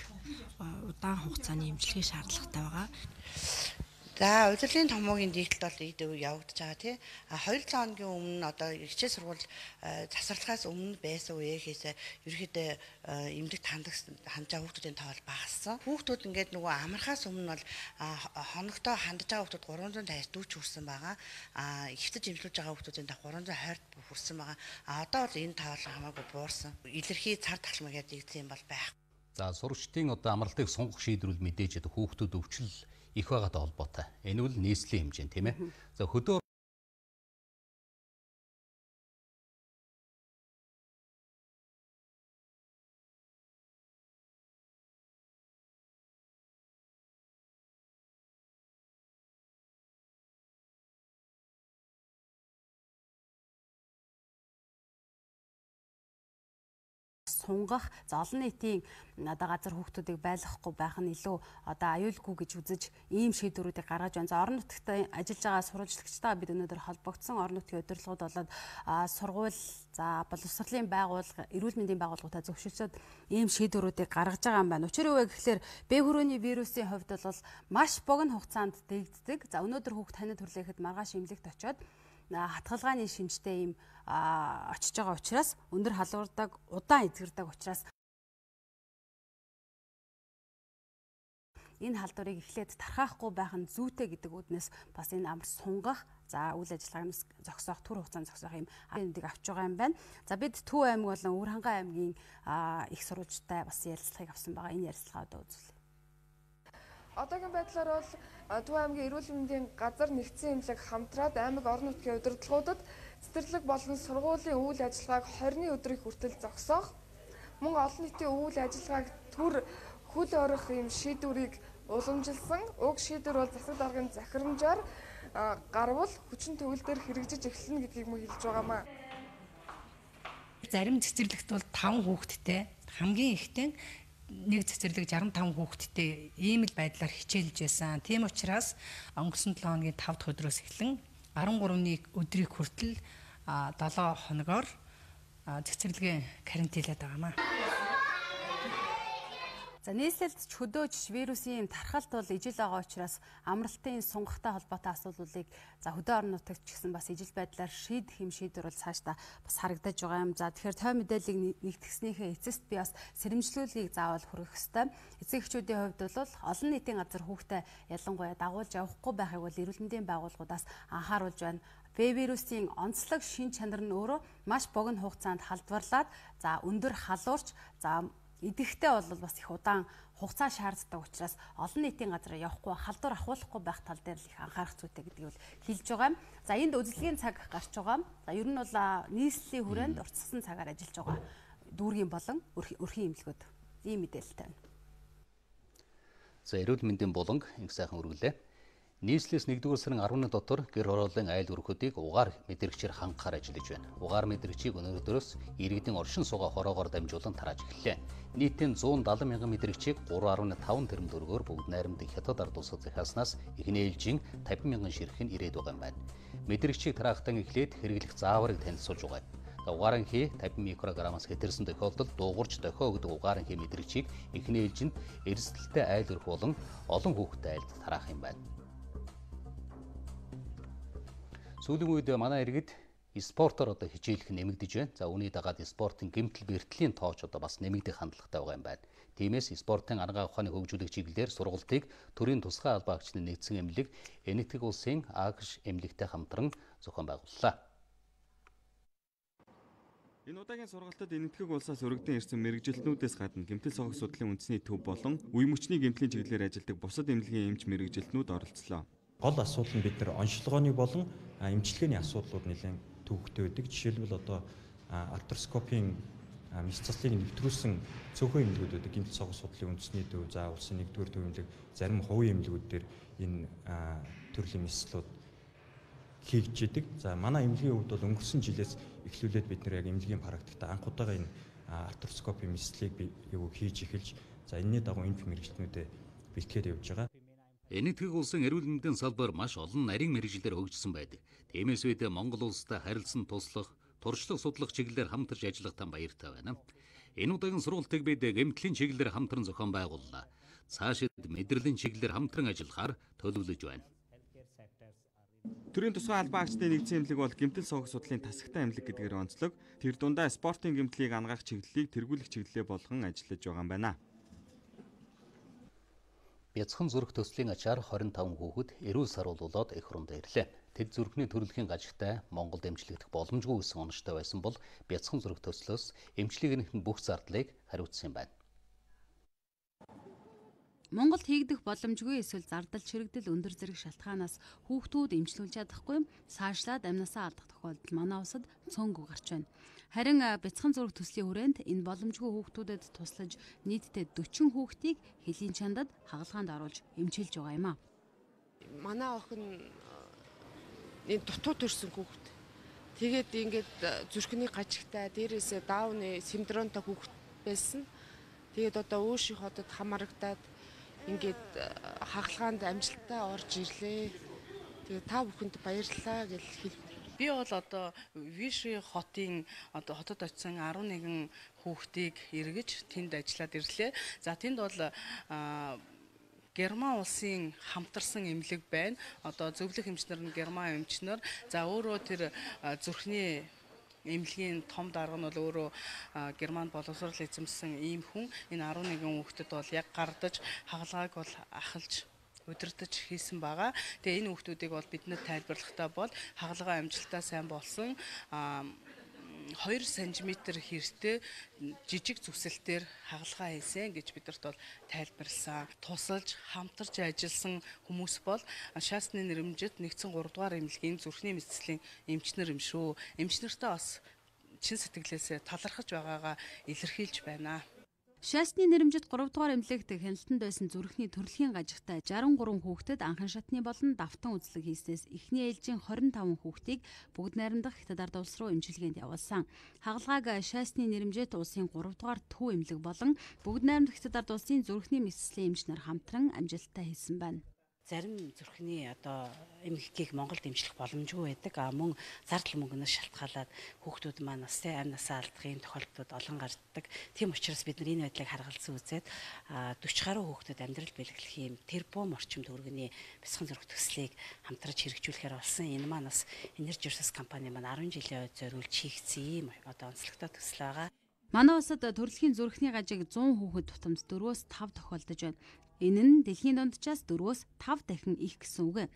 Speaker 4: Удаан хугацааны эмчилгээ шаардлагатай байгаа.
Speaker 5: За удирдлагын томоогийн дийлэлт бол идэв явагдаж байгаа тий. 2-7 хоногийн өмнө одоо хичээл сургууль засварлахаас өмнө байсан үеэхээс ерөөхдөө эмнэлэг хандж байгаа хүүхдүүдийн тоо багассан. Хүүхдүүд ингээд нөгөө амархаас өмнө бол хоногтоо хандж байгаа хүүхдүүд 350 хүрсэн байгаа. Ихтэж эмчилж байгаа хүүхдүүдийн тоо 320 хүрсэн байгаа. Одоо бол энэ тоо хамаагүй буурсан. Илэрхий цар тахалмаг ядагдсан юм бол байх.
Speaker 1: За сурагчдын одоо амралтыг сунгах шийдвэрүүл мэдээж хүүхдүүд өвчлөл их байгаатай холбоотой. Энэ бол нийслэлийн хэмжээ тийм ээ. За хөдөө
Speaker 2: сунгах за олон нийтийн одоо газар хүүхдүүдийг байлгахгүй байх нь илүү одоо аюулгүй гэж үзэж ийм шийдвэрүүдийг гаргаж байна. За орон нутагт ажиллаж байгаа сурвалжлагчтайгаа бид өнөөдөр холбогдсон. Орон нутгийн удирдлагууд болоод сургууль за боловсролын байгууллага, эрүүл мэндийн байгууллагуудаа зөвшөөрсөд ийм шийдвэрүүдийг гаргаж байгаа юм байна. Учир юу вэ гэхээр Б хүрээний вирусын хувьд бол маш богино хугацаанд дэгддэг. За өнөөдөр хүүхд таниад хүрлээхэд маргааш эмнэлэгт очиод хатгалгааны шинжтэй ийм очиж байгаа учраас өндөр халуурдаг, удаан эзгэрдэг учраас энэ халдварыг эхлээд тархаахгүй байх нь зүйтэй гэдэг үднээс бас энэ амар сунгах, за үйл ажиллагаанаас зогсоох, түр хугацаанд зогсоох юм эндийг авч байгаа юм байна. За бид Төв аймаг болон Өвөрхангай аймгийн их сурвалжтай бас ярилцлагыг авсан байгаа. Энэ ярилцлагаа одоо үзүүлье.
Speaker 7: Одоогийн байдлаар бол Төв аймгийн эрүүл мэндийн газар нэгдсэн эмнэлэг хамтраад аймаг орон нутгийн удирдлагуудад цэцэрлэг болон сургуулийн үйл ажиллагааг 20-ны өдрийг хүртэл зогсоох, мөн олон нийтийн үйл ажиллагааг түр хөл орох юм шийдвэрийг уламжилсан. Уг шийдвэр бол засаг даргын захирамжаар гарвал хүчин төгөл дээр хэрэгжиж эхэлнэ гэдгийг мөн хэлж байгаамаа.
Speaker 10: Зарим цэцэрлэгт бол 5 хүүхэдтэй, хамгийн ихтэй нэг цэцэрлэг 65 хүүхэдтэй ийм л байдлаар хичээлж байсан. Тийм учраас өнгөрсөн 7 хоногийн 5 дахь өдрөөс эхлэн 13-ны өдрийг хүртэл 7 хоногоор цэцэрлэгийн карантинлаад байгаамаа.
Speaker 2: За нийслэлд чөдөөж вирусын тархалт бол ижил байгаа учраас амралтын сунгахтай холбоотой асуудлуудыг за хөдөө орон нутагт ч гэсэн бас ижил байдлаар шийдэх юм шийдвэр бол цаашдаа бас харагдаж байгаа юм. За тэгэхээр тоо мэдээллийг нэгтгэснийхээ эцэст би бас сэрэмжлүүлгийг заавал хүргэх ёстой. Эцэг эхчүүдийн хувьд бол олон нийтийн газар хүүхдээ ялангуяа дагуулж явахгүй байхыг бол эрүүл мэндийн байгууллагуудаас анхааруулж байна. Вирусын онцлог шин чанар нь өөрөө маш богино хугацаанд халдварлаад за өндөр халуурч за идэвхтэй бол бас их удаан хугацаа шаарддаг учраас олон нийтийн газар явахгүй халдвар ахуулахгүй байх тал дээр л их анхаарах зүйтэй гэдгийг бол хэлж байгаа юм. За энд үзлэгийн цаг гарч байгаа. За ер нь бол нийслэлийн хүрээнд уртсгасан цагаар ажиллаж байгаа дүүргийн болон өрхийн эмнэлгүүд ийм мэдээлэлтэй байна.
Speaker 1: За эрүүл мэндийн буланг их сайхан үргэлээ. Нийслэс 1-р сарын 10-ны дотор гэр хорооллын айл өрхөдийг угаар мэдрэгчээр хангахаар ажиллаж байна. Угаар мэдрэгчийг өнөөдрөөс иргэдийн оршин суугаа хороогоор дамжуулан тарааж эхэллээ. Нийтийн 170 мянган мэдрэгчийг 3.5 тэрбум төгрөгөөр бүгд найрамдах хятад ард улсад захиаснаас эхний ээлжийн 50 мянган ширхэг ирээд байгаа юм байна. Мэдрэгчийг тараахтан эхлээд хэрэглэх зааварыг танилцуулж байгаа. Угаарын хий 50 микрограммаас хэтэрсэн тохиолдолд дуугарч дохио гэдэг угаарын хий мэдрэгчийг эхний ээлжинд эрсдэлтэй айл өрх болон олон хүүхэдтэй айлд тараах юм байна. Сүүлийн үед манай иргэд спортоор одоо хичээлэх нэмэгдэж байна. За үүний дагаад спортын гэмтэл бэртлийн тооч одоо бас нэмэгдэх хандлагатай байгаа юм байна. Тиймээс спортын арга ухааны хөгжүүлэх чиглэлээр сургалтыг төрийн тусгай албаагчдын нэгдсэн эмнэлэг Энэтхэг улсын АГШ эмнэлэгтэй хамтран зохион байгууллаа.
Speaker 23: Энэ удаагийн сургалтад Энэтхэг улсаас өргөдөн ирсэн мэрэгжилтнүүдээс гадна гэмтэл согох судлалын үндэсний төв болон үе мөчний гэмтлийн чиглэлээр ажилладаг бусад эмнэлгийн эмч мэрэгжилтнүүд оролцлоо.
Speaker 11: Гол асуудал нь бид нар онцлогооны болон эмчилгээний асуудлууд нэлээд төвөгтэй байдаг. Жишээлбэл одоо артроскопийн мэс цаслыг нэвтрүүлсэн цөөхөн эмнэлгүүд байдаг. Гэмтэл согох судлалын үндэсний төв, за улсын 1-р төв эмнэлэг, зарим хувийн эмнэлгүүд дээр энэ төрлийн мэслүүд хийгдэж байдаг. За манай эмнэлгийн хувьд бол өнгөрсөн жилээс эхлүүлээд бид нар яг эмнэлгийн практикт анх удаага энэ артроскопийн мэслийг хийж эхэлж за энэний дагуу эмч мэрэгчлэнүүдэд бэлтгээд явж байгаа.
Speaker 1: Энэтхэг улсын эрүүл мэндийн салбар маш олон нарийн мэрэгжилээр хөгжсөн байдаг. Тиймээс бид Монгол улстай харилцан туслах, туршлага судлах чиглэлээр хамтарч ажиллах тань баяртай байна. Энэ удаагийн сургалтыг бид гэмтлийн чиглэлээр хамтран зохион байгууллаа. Цаашид мэдрэлийн чиглэлээр хамтран ажиллахаар төлөвлөж байна.
Speaker 23: Төрийн тусгай албаагчдын нэгдсэн эмнэлэг бол гэмтэл согох судлалын тасагтай эмнэлэг гэдгээр онцлог. Тэр дундаа спортын гэмтлийг ангаах чиглэлийг тэргүүлэх чиглэлээ болгон ажиллаж байгаа юм байна.
Speaker 1: Бяцхан зүрх төслийн ачаар 25 хүүхэд эрүүл саруул болоод эх оронд ирлээ. Тэд зүрхний төрөлхийн гажигтай Монголд эмчлэгдэх боломжгүй гэсэн онцтой байсан бол бяцхан зүрх төслөөс эмчлэгнийх нь бүх зардлыг хариуцсан юм байна.
Speaker 2: Монголд хийгдэх боломжгүй эсвэл зардал чирэгдэл өндөр зэрэг шалтгаанаас хүүхдүүд эмчлүүлж чадахгүй цаашлаад амнасаа алдах тохиолдол манай улсад цөөнгүй гарч байна. Харин бяцхан зүрх төслийн хүрээнд энэ боломжгүй хүүхдүүдэд туслаж нийтдээ 40 хүүхдийг хэлийн чандад хагалгаанд оруулж эмчилж байгаа юм а.
Speaker 12: Манай охин энэ дутуу төрсөн хүүхд. Тэгээд ингээд зүрхний гажигтай дээрээсээ даауны синдромтой хүүхд байсан. Тэгээд одоо өөшийн хотод хамаарагдаад ингээд хагалгаанд амжилттай орж ирлээ. Тэгээд та бүхэнд баярлалаа гэж хэлээ.
Speaker 13: Би бол одоо Виши хотын одоо хотод очисан 11 хүүхдийг эргэж тэнд ажиллаад ирлээ. За тэнд бол Герман улсын хамтарсан эмнэлэг байна. Одоо зөвлөх эмчнэр нь Герман эмчнэр. За өөрөө тэр зүрхний эмнэлгийн том дарга нь бол өөрөө Германд боловсрол эзэмсэн ийм хүн. Энэ 11 хүүхдэд бол яг гардаж хагалгааг бол ахалж удирдах хийсэн байгаа. Тэгээ энэ хүүхдүүдийг бол биднэр тайлбарлахдаа бол хагалгаа амжилттай сайн болсон 2 см хэртэй жижиг зүсэлтээр хагалгаа хийсэн гэж бидэрт бол тайлбарласан. Тусалж хамтарч ажилласан хүмүүс бол шаасны нэрмжид нэгдсэн 3 дугаар эмнэлгийн зүрхний мэдслийн эмчнэр юм шүү. Эмчнэртээ бас чин сэтгэлээсээ талархаж байгаагаа илэрхийлж байна.
Speaker 2: Шаасны нэрмжид 3 дугаар эмнэлэгт хяналтанд байсан зүрхний төрөлхийн гажигтай 63 хүүхдэд анхан шатны болон давтан үзлэг хийснээс эхний ээлжийн 25 хүүхдийг бүгд найрамдах Хятад ард улс руу эмчилгээнд явуулсан. Хагалгааг шаасны нэрмжид улсын 3 дугаар төв эмнэлэг болон бүгд найрамдах Хятад ард улсын зүрхний мэдслийн эмч нар хамтран амжилттай хийсэн байна.
Speaker 3: Зарим зүрхний одоо эмгэгийг Монголд дэмжлэх боломжгүй байдаг. Мөн зардал мөнгнөөс шалтгаалаад хүүхдүүд маань бас амь насаа алдахын тохиолдлууд олон гардаг. Тийм учраас бид нар энэ байдлыг харгалзан үзээд 40 гаруй хүүхдэд амьдрал бэлгэлэх юм тэрбум орчим төгрөгийн бяцхан зүрх төслийг хамтраж хэрэгжүүлэхээр болсон. Энэ маань бас Energy Resource компани маань 10 жилийн үед зориулж хийгдсэн юм одоо онцлогтой төсөл байгаа.
Speaker 2: Манай улсад төрөлхийн зүрхний гажиг 100 хүүхэд тутамд 4-5 тохиолдож байна. Энэ нь дэлхийн дунджаас 4-5 дахин их гэсэн үг.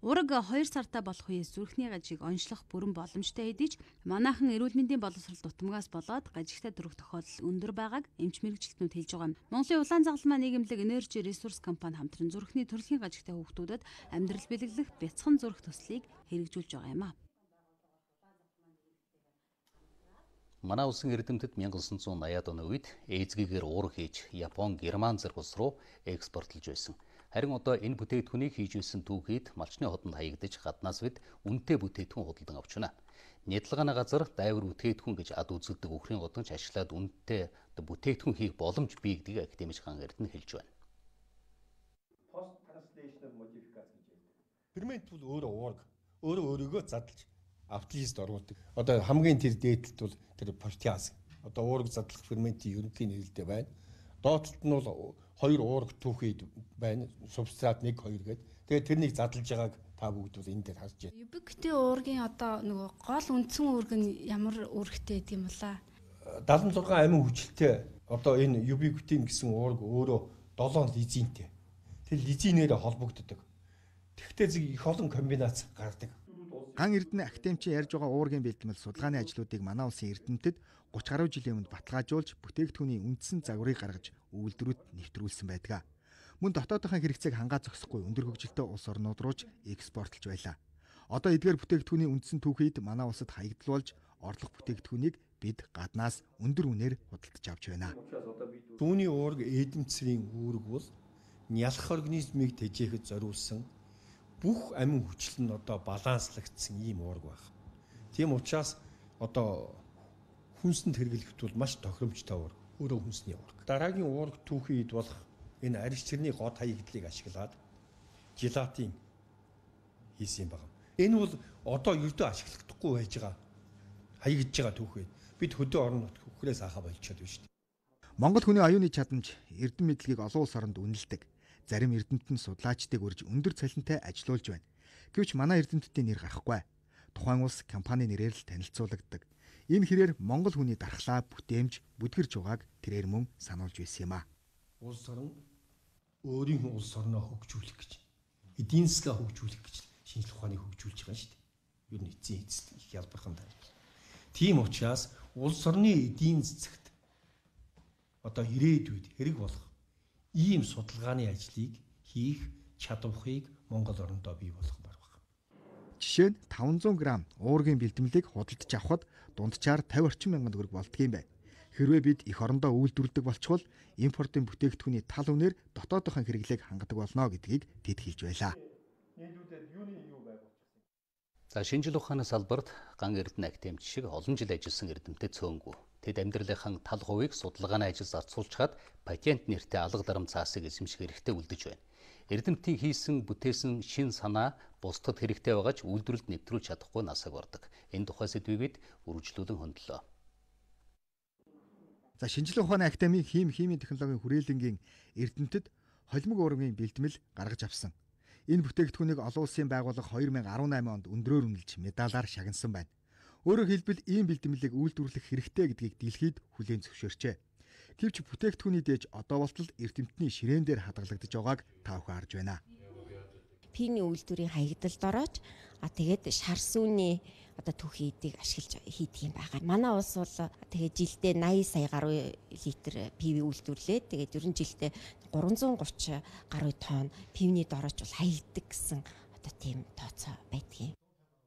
Speaker 2: Ураг 2 сартаа болох үеэс зүрхний гажиг онцлох бүрэн боломжтой хэдий ч манайхан эрүүл мэндийн боловсрол дутамгаас болоод гажигтай төрөх тохиолдол өндөр байгааг эмч мэрэгчлэтнүүд хэлж байгаа. Монголын улаан загалмай нийгэмлэг Energy Resource компани хамтран зүрхний төрөлхийн гажигтай хүүхдүүдэд амьдрал бэлгэлэх бяцхан зүрх төслийг хэрэгжүүлж байгаа юм а.
Speaker 1: Манай улсын эрдэмтэд 1980-ад оны үед эзгийгээр уур хийж Япон, Герман зэрэг улс руу экспортлож байсан. Харин одоо энэ бүтээгдэхүүнийг хийж байсан түүхийд малчны хотод хаягдаж гаднаас бид үнэтэй бүтээгдэхүүн худалдан авч байна. Нийтлагааны газар дайвар бүтээгдэхүүн гэж ад үзэгдэг өхрийн годомч ашиглаад үнэтэй бүтээгдэхүүн хийх боломж бий гэдгийг академик Ган Эрдэнэ хэлж байна.
Speaker 8: Post translational modification гэж байдаг. Фермент бол өөрөөгөө задлж автолист оруулдаг. Одоо хамгийн тэр дээдлэлт бол тэр портиаз. Одоо уураг задлах ферментийн ерөнхий нэрэлтэй байна. Доотлолт нь бол 2 уураг түүхийд байна. Субстрат 1 2 гэдэг. Тэгээд тэрнийг задлж байгааг та бүгд бол энэ дээр харж байна.
Speaker 9: Юбиктэй уургийн одоо нөгөө гол үндсэн уург нь ямар үүрэгтэй гэдэг юм бэлаа?
Speaker 8: 76 амин хүчилтэй одоо энэ юбикутин гэсэн уург өөрөө 7 лизинтэй. Тэр лизинээр холбогддог. Тэгвэл их олон комбинац гардаг.
Speaker 14: Ган Эрдэнэ академичийн ярьж байгаа уургийн бэлтгэл судалгааны ажлуудыг манай улсын эрдэмтэд 30 гаруй жилийн өмнө баталгаажуулж бүтээгдэхүүний үндсэн загварыг гаргаж үйлдвэрүүд нэвтрүүлсэн байдаг. Мөн дотоодынхаа хэрэгцээг хангаа зогсохгүй өндөр хөгжилтэй улс орнууд руу ч экспортлж байлаа. Одоо эдгээр бүтээгдэхүүний үндсэн түүхийд манай улсад хаягдл болж орлох бүтээгдэхүүнийг бид гаднаас өндөр үнээр худалдаж авч байна.
Speaker 8: Түүний уург эдэмцрийн үүрэг бол нялх организмыг тэжээхэд зориулсан бүх амин хүчил нь одоо баланслагдсан ийм уург байна. Тийм учраас одоо хүнсэнд хэрэглэхэд бол маш тохиромжтой уург. Өөрөө хүнсний уург. Дараагийн уург түүхийд болох энэ арьс чирний гот хаягдлыг ашиглаад желатин хийсэн юм байна. Энэ бол одоо ердөө ашиглахдаггүй байж байгаа хаягдж байгаа түүхээ. Бид хөдөө орон нутг хөхрээс ахаа болчиход байна шүү дээ.
Speaker 14: Монгол хүний оюуны чадамж эрдэм мэдлэгийг олон улс оронд үнэлдэг. Зарим эрдэмтэн судлаачдыг урьж өндөр цалинтай ажилуулж байна. Гэвч манай эрдэмтдийн нэр гарахгүй. Тухайн улс компани нэрээр л танилцуулагддаг. Энэ хэрээр Монгол хүний дархлаа бүтээмж бүдгэрж байгааг тэрээр мөн сануулж байсан юм а.
Speaker 8: Улс орон өөрийн улс орноо хөгжүүлэх гэж, эдийн засгаа хөгжүүлэх гэж шинжлэх ухааныг хөгжүүлж байгаа шүү дээ. Юу нэг эцсийн эцэст их ялбархан тань. Тийм учраас улс орны эдийн засагт одоо ирээдүйд хэрэг болох ийм судалгааны ажлыг хийх чадварыг Монгол орондоо бий болгох байна.
Speaker 14: Жишээ нь 500 г уургийн бэлтгэлийг худалдаж авахд дунджаар 50 орчим мянган төгрөг болдгийм байна. Хэрвээ бид эх орондоо үйлдвэрлэдэг болчихвол импортын бүтээгдэхүүний тал үнээр дотоодынхаа хэрэглээг хангадаг болно гэдгийг тэд хэлж байлаа.
Speaker 1: За шинжлэх ухааны салбарт Ган Эрдэнэ академич шиг олон жил ажилласан эрдэмтэд цөөнгүй. Тэд амьдралынхаа тал хувийг судалгааны ажил зарцуулчихад патент нэртэй алга дарам цаасыг эзэмших хэрэгтэй үлдэж байна. Эрдэмтдийн хийсэн бүтээсэн шин санаа бусдад хэрэгтэй байгаа ч үйлдвэрлэлд нэвтрүүлж чадахгүй насаг ордог. Энэ тухай сэдвийг үргэлжлүүлэн хөндлөө.
Speaker 14: За шинжлэх ухааны академийн химийн технологийн хүрээлэнгийн эрдэмтэд холимог уургийн бэлтгэл гаргаж авсан. Энэ бүтээгдэхүүнийг олон улсын байгууллага 2018 онд өндрөөр үнэлж медалаар шагнасан байна. Өөрөөр хэлбэл ийм бэлтгэлийг үйлдвэрлэх хэрэгтэй гэдгийг дэлхийд хүлээн зөвшөөрчээ. Гэвч бүтээгдэхүүний дээж одоо болтол эрдэмтний ширээн дээр хадгалагдаж байгааг та бүхэн харж байна.
Speaker 15: Пиний үйлдвэрийн хаягдалд ороод тэгээд шар сүүний одоо түүхийдийг ашиглаж хийдэг юм байгаа. Манай улс бол тэгээд жилдээ 80 сая гаруй литр пив үйлдвэрлээд тэгээд ерөн жилдээ 330 гаруй тонн пивний дорож бол хаягддаг гэсэн одоо тийм тооцоо байдгийг.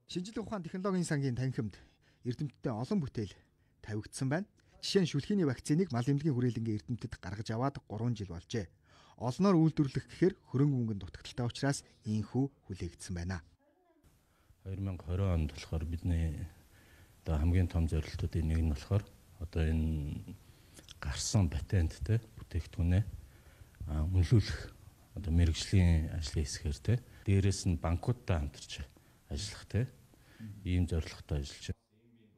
Speaker 14: Шинжлэх ухааны технологийн сангийн танхимд эрдэмтдээ олон бүтээл тавигдсан байна. Жишээ нь шүлхийний вакциныг мал эмнэлгийн хүрээлэнгийн эрдэмтэд гаргаж аваад 3 жил болжээ. Олноор үйлдвэрлэх гэхээр хөрөнгө мөнгөнд дутагдaltaй учраас ийхүү хүлээгдсэн байна.
Speaker 16: 2020 онд болохоор бидний одоо хамгийн том зорилтуудын нэг нь болохоор одоо энэ гарсан патенттэй бүтээгдэхүүнээ үнэлүүлэх одоо мэрэгжлийн ажлын хэсгээр те дээрээс нь банкудтай хамтарч ажиллах те ийм зорилготой ажиллаж байна.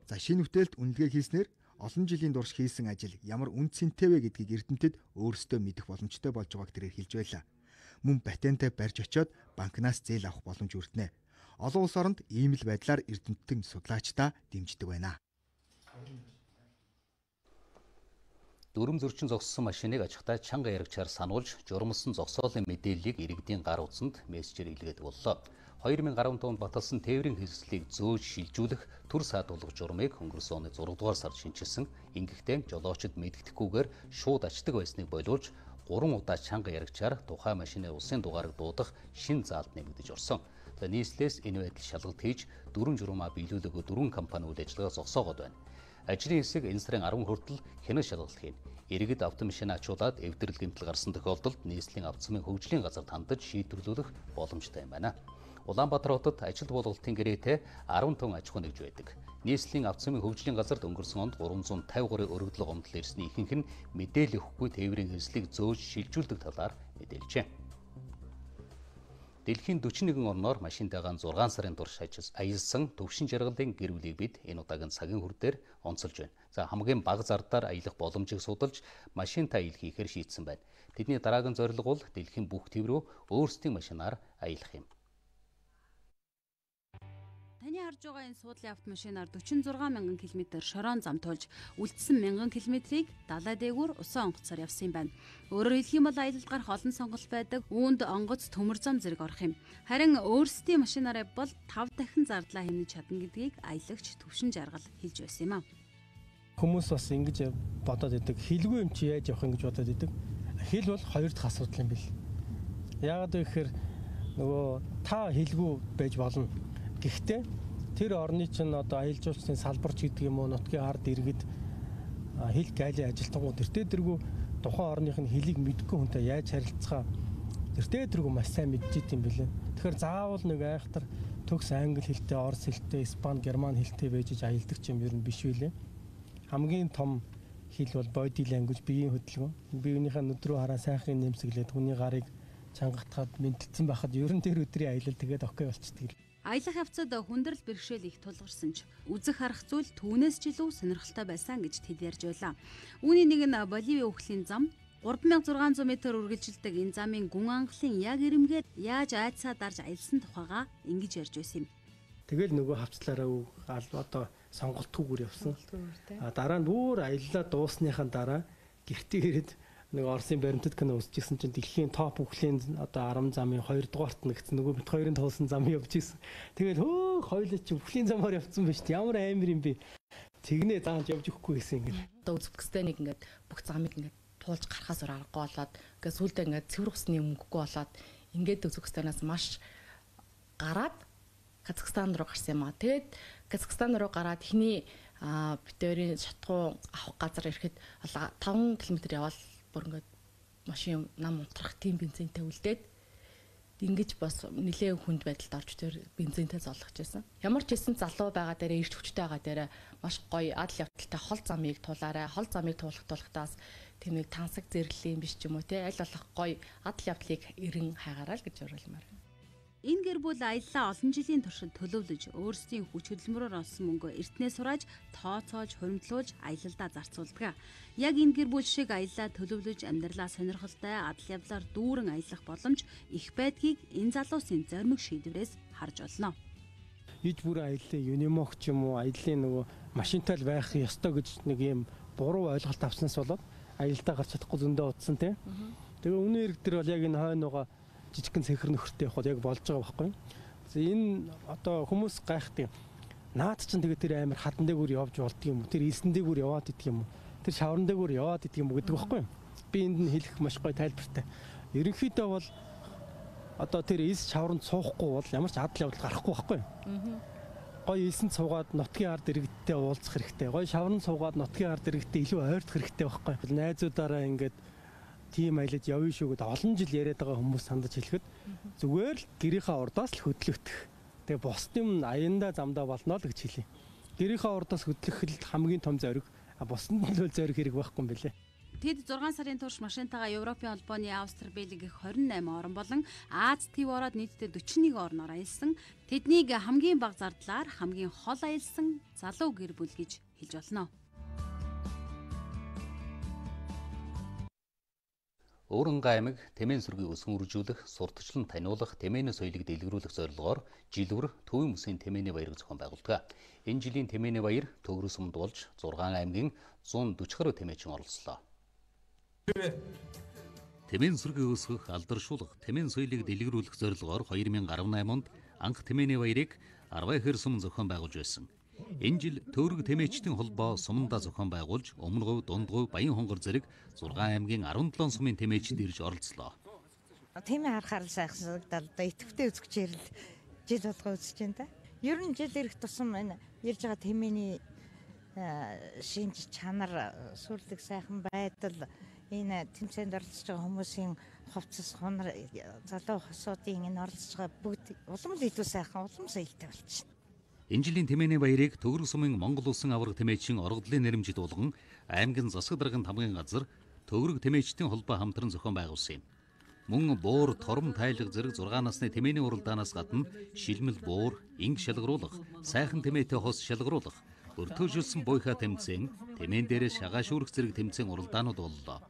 Speaker 14: За шинэ бүтээлд үнэлгээ хийснээр олон жилийн турш хийсэн ажил ямар үн цэнтэй вэ гэдгийг эрдэмтэд өөрсдөө мэдэх боломжтой болж байгааг тэрээр хэлж байлаа. Мөн патентаа барьж очиод банкнаас зээл авах боломж өртнэ. Олон улс оронд ийм л байдлаар эрдэмтэн судлаачдаа дэмждэг байна.
Speaker 1: Дүрм зөрчин зогссон машиныг ажихтай чанга яригчаар сануулж журмалсан зогсоолын мэдээллийг иргэдийн гар утсанд мессежээр илгээдэг боллоо. 2015 онд баталсан тээврийн хэсэлтийг зөөж шилжүүлэх төр саадуулах журмыг өнгөрсөн оны 6 дугаар сард шинжилсэн. Ингэхдээ жолоочид мэддэхгүйгээр шууд ачдаг байсныг боловч 3 удаа чанга яригчаар тухайн машины улсын дугаарыг дуудах шин заалт нэмэгдэж орсон. За нийслэлээс энэ байдал шалгалт хийж 4 журмаа биелүүлээгөө 4 компани үйл ажиллагаа зогсоогоод байна. Ажлын хэсэг энэ сарын 10 хүртэл хянах шалгалт хийнэ. Иргэд автомашин ачуулаад эвдрэл гэмтэл гарсан тохиолдолд нийслэлийн автомын хөгжлийн газар хандаж шийдвэрлүүлэх боломжтой юм байна. Улаанбаатар хотод ажил болголтын гэрээтэй 10 тонн аж ахуй нэгж байдаг. Нийслэлийн автомын хөгжлийн газарт өнгөрсөн онд 353 өргөдлөг гомдол ирсний ихэнх нь мэдээлэл өгөхгүй тээврийн хэслийг зөөж шилжүүлдэг талаар мэдээлжээ. Дэлхийн 41 орноор машинтайгаа 6 сарын турш аялсан төвшин жаргалын гэр бүлийг бид энэ удаагийн цагийн хүр дээр онцолж байна. За хамгийн бага зардаар аялах боломжийг судалж машинтай аялах хийхээр шийдсэн байна. Тэдний дараагийн зорилго бол дэлхийн бүх төв рүү өөрсдийн машинаар аялах юм.
Speaker 2: Таны харж байгаа энэ суудлын автомашинаар 46,000 км шорон замтуулж үлдсэн 1000 км-ийг далай дээгүүр усан онгоцоор явсан юм байна. Өөрөөр хэлэх юм бол аялалд гарах олон сонголт байдаг. Үүнд онгоц төмөр зам зэрэг орох юм. Харин өөрсдийн машинаараа бол 5 дахин зардлаа хэмнэж чадна гэдгийг аялагч Төвшин Жаргал хэлж байсан юм а.
Speaker 17: Хүмүүс бас ингэж бодоод идэг. Хилгүй юм чи яаж явах юм гэж бодоод идэг. Хил бол хоёр дахь асуудал юм бэл. Яагаад вэ гэхээр нөгөө та хилгүй байж болно. Гэхдээ тэр орны чинь одоо аялал жуулчдын салбарч гэдэг юм уу нутгийн ард иргэд хил гайлын ажилтнууд тэртээ тухайн орных нь хилийг мэдгүй хүнтэй яаж харилцгаа тэртээ маш сайн мэдчихэж юм бэлээ. Тэгэхээр заавал нэг айхтар төгс англи хэлтэй, орос хэлтэй, испани, герман хэлтэй байж аялдаг юм ер нь биш үлээ. Хамгийн том хэл бол body language, биеийн хөдөлгөөн. Биеийнхээ нүд рүү хараа сайхан нэмсэглээд хүний гарыг чангатахад мэдтсэн байхад ер нь тэр өдрийн аялал тэгээд окей болчихдөг.
Speaker 2: Аялах явцад хүндрэл бэрхшээл их тулгарсан ч үзэх харах зүйл түүнээс ч илүү сонирхолтой байсан гэж тэд ярьж байлаа. Үүний нэг нь Боливийн өвхлийн зам 3600 м үргэлжилдэг энэ замын гүн ангалын яг ирэмгээд яаж айцаа дарж аялсан тухайга ингэж ярьж байсан юм.
Speaker 17: Тэгэл нөгөө хавцлаараа одоо сонголтгүйгээр явсан. Дараа нь бүр аяллаа дуусныхаа дараа гэртээ ирээд нэг Оросын баримтат кино үзчихсэн чинь дэлхийн топ өвхлийн одоо 10 замын 2 дугаарт нэгсэн нөгөө бит хоёрын туулсан зам явж исэн. Тэгэл хоёулаа чи өвхлийн замаар явцсан байж ямар амар юм бэ? Тэгнээ зааж явж өгөхгүй гэсэн ингэ.
Speaker 18: Одоо Үзбекистаныг ингээд бүх замыг ингээд туулж гарахаас аргагүй болоод ингээд сүулдэ ингээд цэвэр усны мөнгөгүй болоод ингээд Үзбекистанаас маш гараад Казахстан руу гарсан юм аа. Тэгээд Казахстан руу гараад ихний битэрийн шатгуу авах газар ирэхэд 5 км явбал бүр ингээд машин нам унтрах тийм бензинтэй үлдээд ингэж бас нэлээд хүнд байдалд орж тэр бензинтэй зоолгож байсан. Ямар ч хэсэн залуу байгаа дээрээ ирч хүчтэй байгаа дээрээ маш гоё адал явдалтай хол замыг туулаарай. Хол замыг туулахдаас тийм нэг тансаг зэрэглэлийн биш ч юм уу те аль болох гоё адал явдлыг эрен хайгаарай л гэж уриалмаар.
Speaker 2: Энэ гэр бүл аяллаа олон жилийн туршид төлөвлөж өөрсдийн хүч хөдөлмөрөөр олсон мөнгөө эртнээ сурааж тооцоолж хуримтлуулж аялалдаа зарцуулдаг. Яг энэ гэр бүл шиг аяллаа төлөвлөж амьдралаа сонирхолтой адал явдлаар дүүрэн аялах боломж их байдгийг энэ залуусын зоримог шийдвэрээс харж олно.
Speaker 17: Иж бүр аяллаа юнимог ч юм уу аяллаа нөгөө машинтай л байх ёстой гэж нэг юм буруу ойлголт авснаас болоод аялалдаа гарч чадахгүй зөндөө утсан тийм. Тэгээ өнөө ирэг дээр бол яг энэ хойноогоо жижигхэн цэнхэр нөхөртэй явахад яг болж байгаа байхгүй. Энэ одоо хүмүүс гайхдаг. Наад чинь тэгээд тэр амар хадан дээгүүр явж болдго юм уу? Тэр илсэн дээгүүр яваад идэх юм уу? Тэр шавран дээгүүр яваад идэх юм уу гэдэг байхгүй. Би энд нь хэлэх маш гоё тайлбартай. Ерөнхийдөө бол одоо тэр ис шавранд суухгүй бол ямар ч адал явдал гарахгүй байхгүй. Гоё илсэнд суугаад нутгийн ард иргэдтэй уулзах хэрэгтэй. Гоё шавранд суугаад нутгийн ард иргэдтэй илүү ойртох хэрэгтэй байхгүй. Найзуудаараа ингээд тийм аялалд явна шүү гэдээ олон жил яриад байгаа хүмүүс сандаж хэлэхэд зүгээр л гэрийнхаа урдаас л хөдлөгдөх. Тэгээ бос юм аяндаа замдаа болно л гэж хэлээ. Гэрийнхаа урдаас хөдлөх л хамгийн том зориг. Боснд нь л зориг хэрэг байхгүй юм билэ.
Speaker 2: Тэд 6 сарын турш машинтайгаа Европын холбооны Австри, Бельги гэх 28 орн болон Аз төв ороод нийтдээ 41 орноор аялсан. Тэднийг хамгийн бага зардлаар хамгийн хол аялсан залуу гэр бүл гэж хэлж болно.
Speaker 1: Өөрөнгө аймаг Тэмээн сүргийг өсгөнөржүүлэх, сурталчлан таниулах, Тэмээний соёлыг дэлгэрүүлэх зорилгоор жилбэр Төвийн Мөсийн Тэмээний баярыг зохион байгуулдаг. Энэ жилийн Тэмээний баяр Төгрөг сумд болж 6 аймгийн 140 гаруй тэмээчин оролцлоо. Тэмээн сүргийг өсгөх, алдаршуулах, Тэмээн соёлыг дэлгэрүүлэх зорилгоор 2018 онд анх Тэмээний баярыг Арвайхэр сум зохион байгуулж байсан. Энэ жил Төвөрг Тэмээчдийн холбоо сумдаа зохион байгуулж Өмнөговь, Дундгуй, Баян хонгор зэрэг 6 аймгийн 17 сумын тэмээчид ирж оролцлоо.
Speaker 19: Тэмээ харахаар сайхан санагдал идэвхтэй үзэгчээр л жил болгоо үзэж байна та. Ер нь жил ирэх тусам энэ ирж байгаа тэмээний шинж чанар, сүрлэг сайхан байдал, энэ тэмцээнд оролцож байгаа хүмүүсийн хувцас, хонор, залуу хосуудын энэ оролцож байгаа бүгд улам л илүү сайхан, улам соёлтой болчихно.
Speaker 1: Энэ жилийн Тэмээний баярыг Төгрөг сумын Монгол Улсын аварга тэмээчин оргодлын нэрмжид болгон аймгийн засаг даргын тамгын газар Төгрөг Тэмээчдийн холбоо хамтран зохион байгуулсан юм. Мөн буур, тором тайлга зэрэг 6 насны Тэмээний уралдаанаас гадна шилмэл буур, инг шалгаруулах, сайхан тэмээтэй хос шалгаруулах, өртөөжүүлсэн буйхаа тэмцээн, Тэмээн дээрээ шагаа шүүрэх зэрэг тэмцээн уралдаанууд боллоо.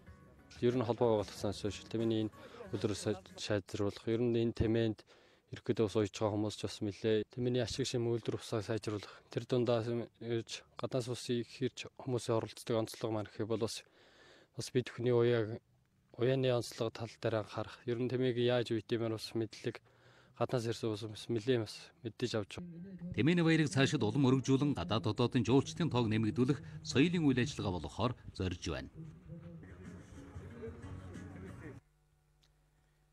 Speaker 20: Ер нь холбоо байгуулагдсанаас хойш Тэмээний энэ өдрөөс шийдвэрлэх, ер нь энэ Тэмээнд ирэхэд ус уйж байгаа хүмүүс ч бас нэлээ Тэмээний ашиг шим үйлдвэр усаа сайжруулах. Тэр дундаа ирж гаднаас усыг хэрж хүмүүсийн оролцдог онцлог маань гэх бол бас бид бүхний уяаны онцлог тал дээр анхаарах. Ер нь Тэмээг яаж үйдэмээр бас мэдлэг гаднаас ирсэн хүмүүс нэлээ бас мэддэж авч байгаа.
Speaker 1: Тэмээний баярыг цаашид улам өргөжүүлэн гадаад хотуудын жуулчдын тоог нэмэгдүүлэх соёлын үйл ажиллагаа болохоор зорж байна.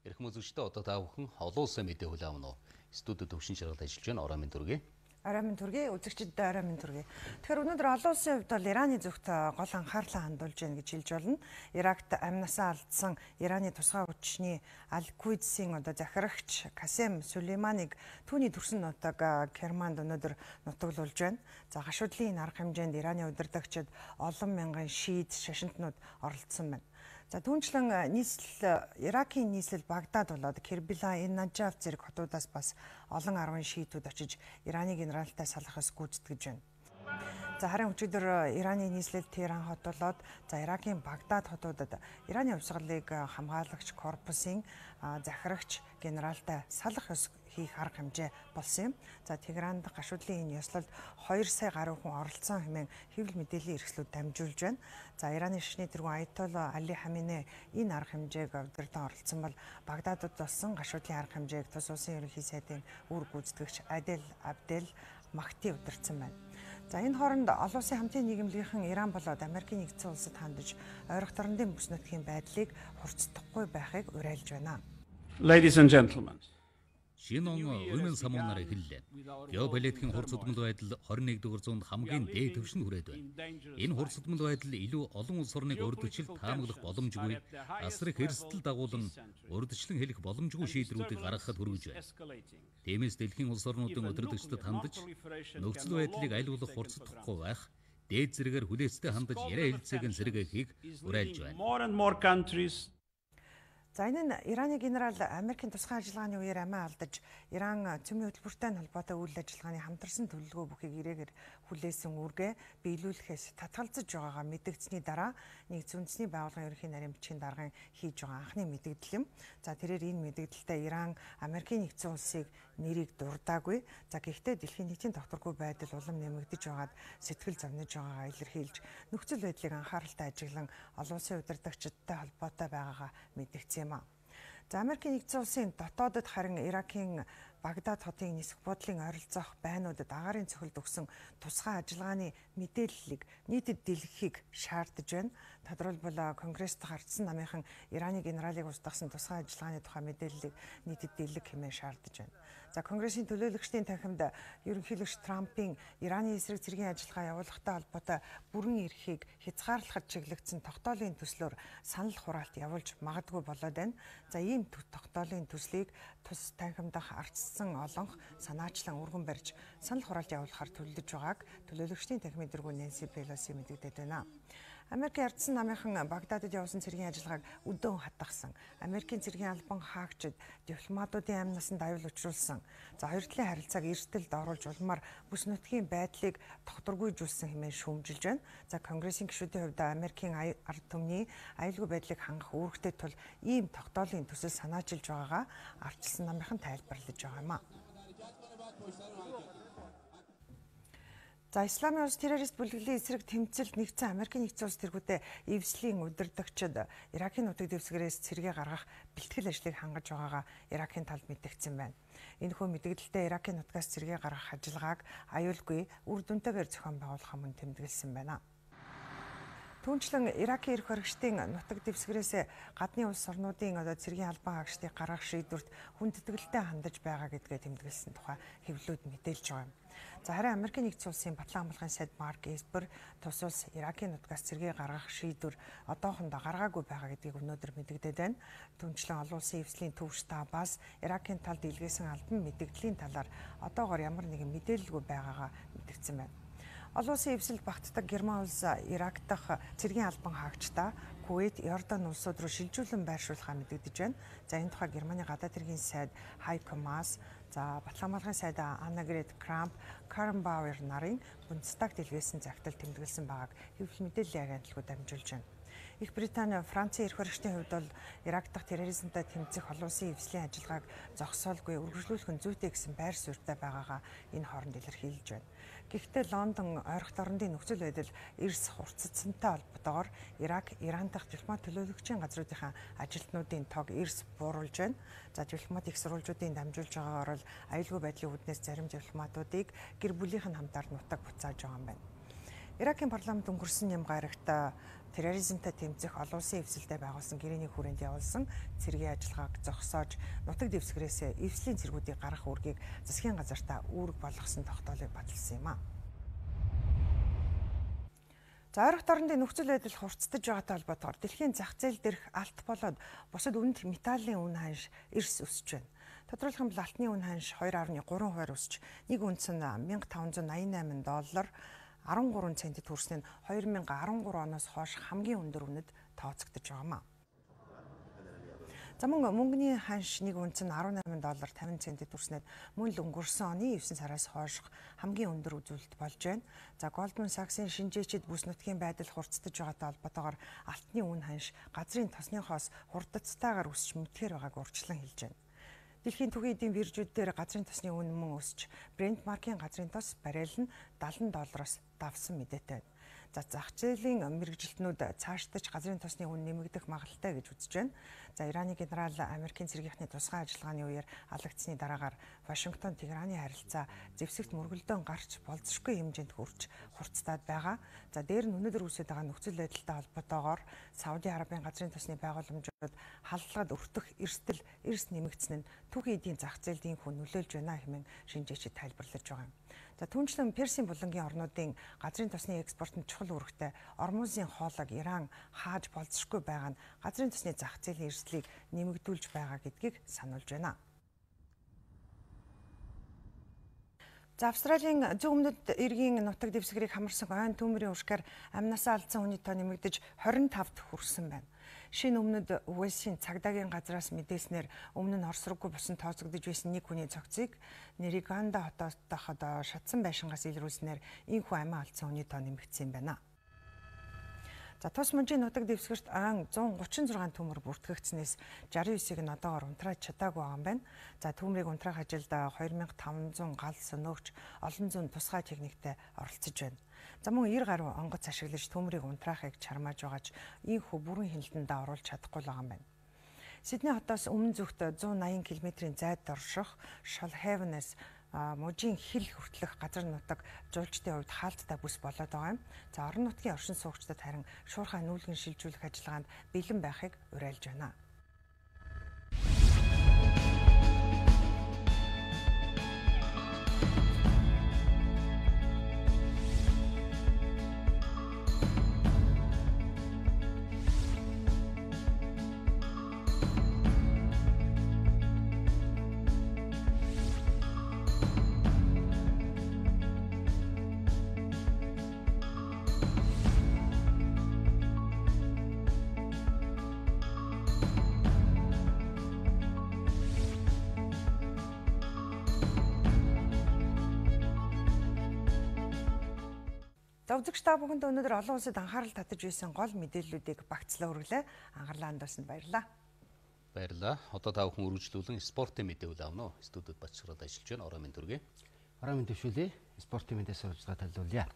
Speaker 1: Эрхэм үзэгчдээ одоо та бүхэн олон улсын мэдээ хүлээн авах нь студид төвшин шаргалт ажиллаж байна. Орой минь төргий.
Speaker 21: Орой минь төргий. Үзэгчдэд орой минь төргий. Тэгэхээр өнөөдөр олон улсын хувьд бол Ираны зүгт гол анхаарлаа хандуулж байна гэж хэлж болно. Иракт амнасаа алдсан Ираны тусгай хүчний Аль-Куйдсийн захирагч Касем Сулейманыг түүний төрсөн нутаг Керманд өнөөдөр нутаглуулж байна. За гашуудлын арга хэмжээнд Ираны удирдагчид олон мянган шиит шашинтнууд оролцсон байна. За түүнчлэн Иракийн нийслэл Багдад болоод Кербила, Наджаф зэрэг хотуудаас бас олон 10 шиитүүд очиж Ираны генералтай салахаас гүйцэтгэж байна. За харин өчигдөр Ираны нийслэл Техран хот болоод Иракийн Багдад хотуудад Ираны хувьсгалыг хамгаалагч корпусын захирагч генералтай салах ёс хийх арга хэмжээ болсон юм. За Техранд гашуудлын энэ ёслолд 2 сая гаруй хүн оролцсон хэмээн хэвлэл мэдээллийн эрхлүүд дамжуулж байна. За Ираны шашны тэргүүн Аятолла Али Хаминей энэ арга хэмжээг удирдан оролцсон бол Багдадад болсон гашуудлын арга хэмжээг тус улсын ерөнхий сайдын үүрэг гүйцэтгэгч Адел Абдел Махти удирдсан байна. За энэ хооронд олон улсын хамтын нийгэмлэгийнхэн Иран болоод Америкийн нэгдсэн улсад хандаж ойрох дорнодын бүс нутгийн байдлыг хурцдахгүй байхыг уриалж байна.
Speaker 22: Ladies and gentlemen.
Speaker 1: Шинэ он Women's Month-аар эхэллээ. Геополитикийн хурцдмал байдал 21-р зуунд хамгийн дээд түвшинд хүрээд байна. Энэ хурцдмал байдал илүү олон улс орныг урьдчилан таамаглах боломжгүй, асрах эрсдэл дагуулan урьдчилан хэлэх боломжгүй шийдвэрүүдийг гаргахад хүргэж байна. Тиймээс дэлхийн улс орнуудын удирдагчдад хандаж нөхцөл байдлыг аль болох хурцдахгүй байх, дээд зэрэгээр хүлээцтэй хандаж яриа хэлцээг нь сэргээхийг уриалж байна.
Speaker 21: За энэ нь Ираны генерал Америкийн тусгай ажиллагааны үеэр амиа алдаж Иран цөмийн хөтөлбөртэй холбоотой үйл ажиллагааны хамтарсан төлөвлөгөө бүхийг ирээгээр хүлээсэн үүргээ биелүүлэхээс татгалзаж байгаагаа мэдэгдсэний дараа нэгдсэн үндэсний байгууллагын ерөнхий нарийн бичгийн даргын хийж байгаа анхны мэдэгдэл юм. За тэрээр энэ мэдэгдэлтэй Иран Америкийн нэгдсэн улсыг нэрийг дурдаагүй. За гэхдээ дэлхийн нийтийн тогтворгүй байдал улам нэмэгдэж байгаад сэтгэл зовниж байгаагаа илэрхийлж нөхцөл байдлыг анхааралтай ажиглан олон улсын удирдагчдтай холбоотой байгаагаа мэдэгдсэн юм а. За Америкийн нэгдсэн улсын дотоодод харин Иракийн Багдад хотын нисэх бодлын ойролцоох байнуудад агаарын цохилд өгсөн тусгай ажиллагааны мэдээллийг нийтэд дэлгэхийг шаардж байна. Тодорхойлбол Конгресст гарцсан намынхан Ираны генералыг устгасан тусгай ажиллагааны тухай мэдээллийг нийтэд дэлгэх хэмээн шаардж байна. За Конгрессийн төлөөлөгчдийн танхимд ерөнхийлөгч Трампын Ираны эсрэг цэргийн ажиллагаа явуулахтай холбоотой бүрэн эрхийг хязгаарлахад чиглэгдсэн тогтоолын төслөөр санал хураалт явуулж магадгүй болоод байна. За ийм тогтоолын төслийг тус танхимдах ардчсан олонх санаачлан өргөн барьж санал хураалт явуулахаар төлөвлөж байгааг төлөөлөгчдийн танхимын дэргүүн Нэнси Пелоси мэдэгдээд байна. Америкийн ардсан намынхан Багдадад явуулсан цэргийн ажиллагааг өдөөн хатгасан. Америкийн цэргийн албан хаагчид дипломатуудын амь насанд аюул учруулсан. За хоёр талын харилцааг эрсдэлд оруулж улмаар бүс нутгийн байдлыг тогтворгүйжүүлсэн хэмээн шүүмжилж байна. За Конгрессийн гишүүдийн хувьд Америкийн ард түмний аюулгүй байдлыг хангах үүрэгтэй тул ийм тогтоолын төсөл санаачилж байгаагаа ардчилсан намынхан тайлбарлаж байгаа юм а. За Исламын улс террорист бүлэглэлийн эсрэг тэмцэлд нэгдсэн Америкийн нэгдсэн улс тэргүүтээ эвслийн удирдагчид Иракийн нутаг дэвсгэрээс цэргээ гаргах бэлтгэл ажлыг хангаж байгаагаа Иракийн талд мэдгдсэн байна. Энэхүү мэдээлэлдээ Иракийн нутгаас цэргээ гаргах ажиллагааг аюулгүй үр дүнтэйгээр зохион байгуулах мөн тэмдэглэсэн байна. Түүнчлэн Иракийн эрх баригчдын нутаг дэвсгэрээс гадны улс орнуудын цэргийн албан хаагчдыг гаргах шийдвэрт хүндэтгэлтэй хандаж байгаа гэдгээ тэмдэглэсэн тухай хэвлэлүүд мэдээлж байгаа юм. За харин Америкийн нэгдсэн улсын батлан хамгаалахын сайд Марк Эспер тус улс Иракийн нутгаас цэргээ гаргах шийдвэр одоохондоо гаргаагүй байгаа гэдгийг өнөөдөр мэдэгдээд байна. Түүнчлэн олон улсын эвслийн төвч штабаас Иракийн талд илгээсэн албан мэдэгдлийн талаар одоогоор ямар нэгэн мэдээлэлгүй байгаагаа мэдгдсэн байна. Олон улсын эвсэлд багтдаг Герман улс Ирак дахь цэргийн албан хаагчдаа Кувейт, Йордан улсууд руу шилжүүлэн байршуулахаа мэдэгдэж байна. За энэ тухай Германы гадаад хэргийн сайд Хайко Маас, за батлан хамгаалахын сайд Аннагрет Крамп, Карен Бауэр нарын Бундестагт илгээсэн загтал тэмдэглэсэн байгааг хэвлэл мэдээллийн агентлагууд дамжуулж байна. Их Британи, Францын эрх баригчдын хувьд бол Ирак дахь терроризмтай тэмцэх олон улсын эвслийн ажиллагааг зогсоолгүй үргэлжлүүлэх нь зүйтэй гэсэн байр суурьтай байгаагаа энэ хооронд илэрхийлж байна. Гэхдээ Лондон ойролт орондын нөхцөл байдал эрс хурцдсантай холбоотойгоор Ирак, Иран дахь дипломат төлөөлөгчийн газруудынхаа ажилтнуудын тоог эрс бууруулж байна. За дипломат их сурвалжуудын дамжуулж байгаагаар бол аюулгүй байдлын үүднээс зарим дипломатуудыг гэр бүлийнх нь хамтаар нутаг буцааж байгаа юм байна. Иракийн парламент өнгөрсөн ням гарагт терроризмтай тэмцэх олон улсын эвсэлтэд байгуулсан гэрээний хүрээнд явуулсан цэргийн ажиллагааг зогсоож нутаг дэвсгэрээс эвслийн цэргүүдийг гаргах үүргийг засгийн газартаа үүрэг болгосон тогтоолыг баталсан юм а. За ойролт орондын нөхцөл байдал хурцдаж байгаатай холбоотойгоор дэлхийн зах зээл дээрх алт болоод бусад үнэт металлын үн ханш эрс өсөж байна. Тодорхойлох юм бол алтны үн ханш 2.3% өсөж нэг үнэс нь $1588 13 центид хүрсэн нь 2013 оноос хойш хамгийн өндөр үнэд тооцогдож байгаа юм а. За мөнгөний ханш нэг үнэс нь $18.50 центид хүрснээр мөн л өнгөрсөн оны 9 сараас хойш хамгийн өндөр үзүүлэлт болж байна. За Goldman Sachs-ийн шинжээчид бүс нутгийн байдал хурцдаж байгаатай холбоотойгоор алтны үн ханш газрын тосныхоос хурдцтайгаар өсч мэдхээр байгааг урьдчилан хэлж байна. Дэлхийн түгээн эдийн биржүүд дээр газрын тосны үн мөн өсч Brent маркийн газрын тос баррел нь $70 давсан мэдээтэй байна. За зах зээлийн мэргэжилтнүүд цаашдаж газрын тосны үн нэмэгдэх магадлалтай гэж үзэж байна. За Ираны генерал Америкийн цэргийнхний тусгай ажиллагааны үеэр алагдсны дараагаар Вашингтон Техраны харилцаа зэвсэгт мөргөлдөөн гарч болзошгүй хэмжээнд хүрч хурцтаад байгаа. За дээр нь өнөөдөр үүсэж байгаа нөхцөл байдалтай холбоотойгоор Сауди Арабын газрын тосны байгууламжууд халдлагад өртөх эрс нэмэгдсэн нь түүхийн эдийн зах зээлд инхүү нөлөөлж байна хэмээн шинжээчид тайлбарлаж байгаа юм. За түүнчлэн Персийн булангийн орнуудын газрын тосны экспортод чухал үүрэгтэй Ормузын хоолойг Иран хааж болзошгүй байгаа нь газрын тосны зах зээлийн эрсдлийг нэмэгдүүлж байгаа гэдгийг сануулж байна. За Австралийн зөв өмнөд эргийн нутаг дэвсгэрийг хамарсан ойн төмрийн уршгаар амнасаа алдсан хүний тоо нэмэгдэж 25-т хүрсэн байна. Шинэ өмнөд Уэльсийн цагдаагийн газраас мэдээснээр өмнө нь Орос руугүй бусан тооцогдож байсан нэг хүний цогцыг Нэриганда хотоотойхоо шатсан байшингаас илрүүлснээр энэхүү амиа алдсан хүний тоо нэмэгдсэн байна. За тус мужийн нутаг дэвсгэрт ойн 136 төмөр бүртгэгдснээс 69-ийг нь одоогоор унтрааж чадаагүй байгаа юм байна. За төмрийг унтраах ажилд 2500 гал сөнөөгч олон зуун тусгай техниктэй оролцож байна. За мөн 90 гаруй онгоц ашиглаж төмрийг унтраахыг чармааж байгаач ийхүү бүрэн хяналтанд оруулж чадахгүй байгаа юм байна. Сидней хотоос өмнө зүгт 180 км-ийн зайд орших Shoalhaven-ээс мужийн хил хүртэлх газар нутаг жуулчдын хувьд хаалттай бүс болоод байгаа юм. За орон нутгийн оршин суугчдад харин шуурхай нүүлгэн шилжүүлэх ажиллагаанд бэлэн байхыг уриалж байна. За үзэгч та бүхэнд өнөөдөр олон улсад анхаарал татаж байсан гол мэдээллүүдийг багцлаа хүргэлээ. Анхаарлаа хандуулсанд баярлалаа.
Speaker 1: Баярлалаа. Одоо та бүхэн үргэлжлүүлэн спортын мэдээ авна уу? Студиуд бачраад ажиллаж байна. Орой минь төргий.
Speaker 4: Орой минь төвшүүлээ. Спортын мэдээ сурвалжлага талуулъя.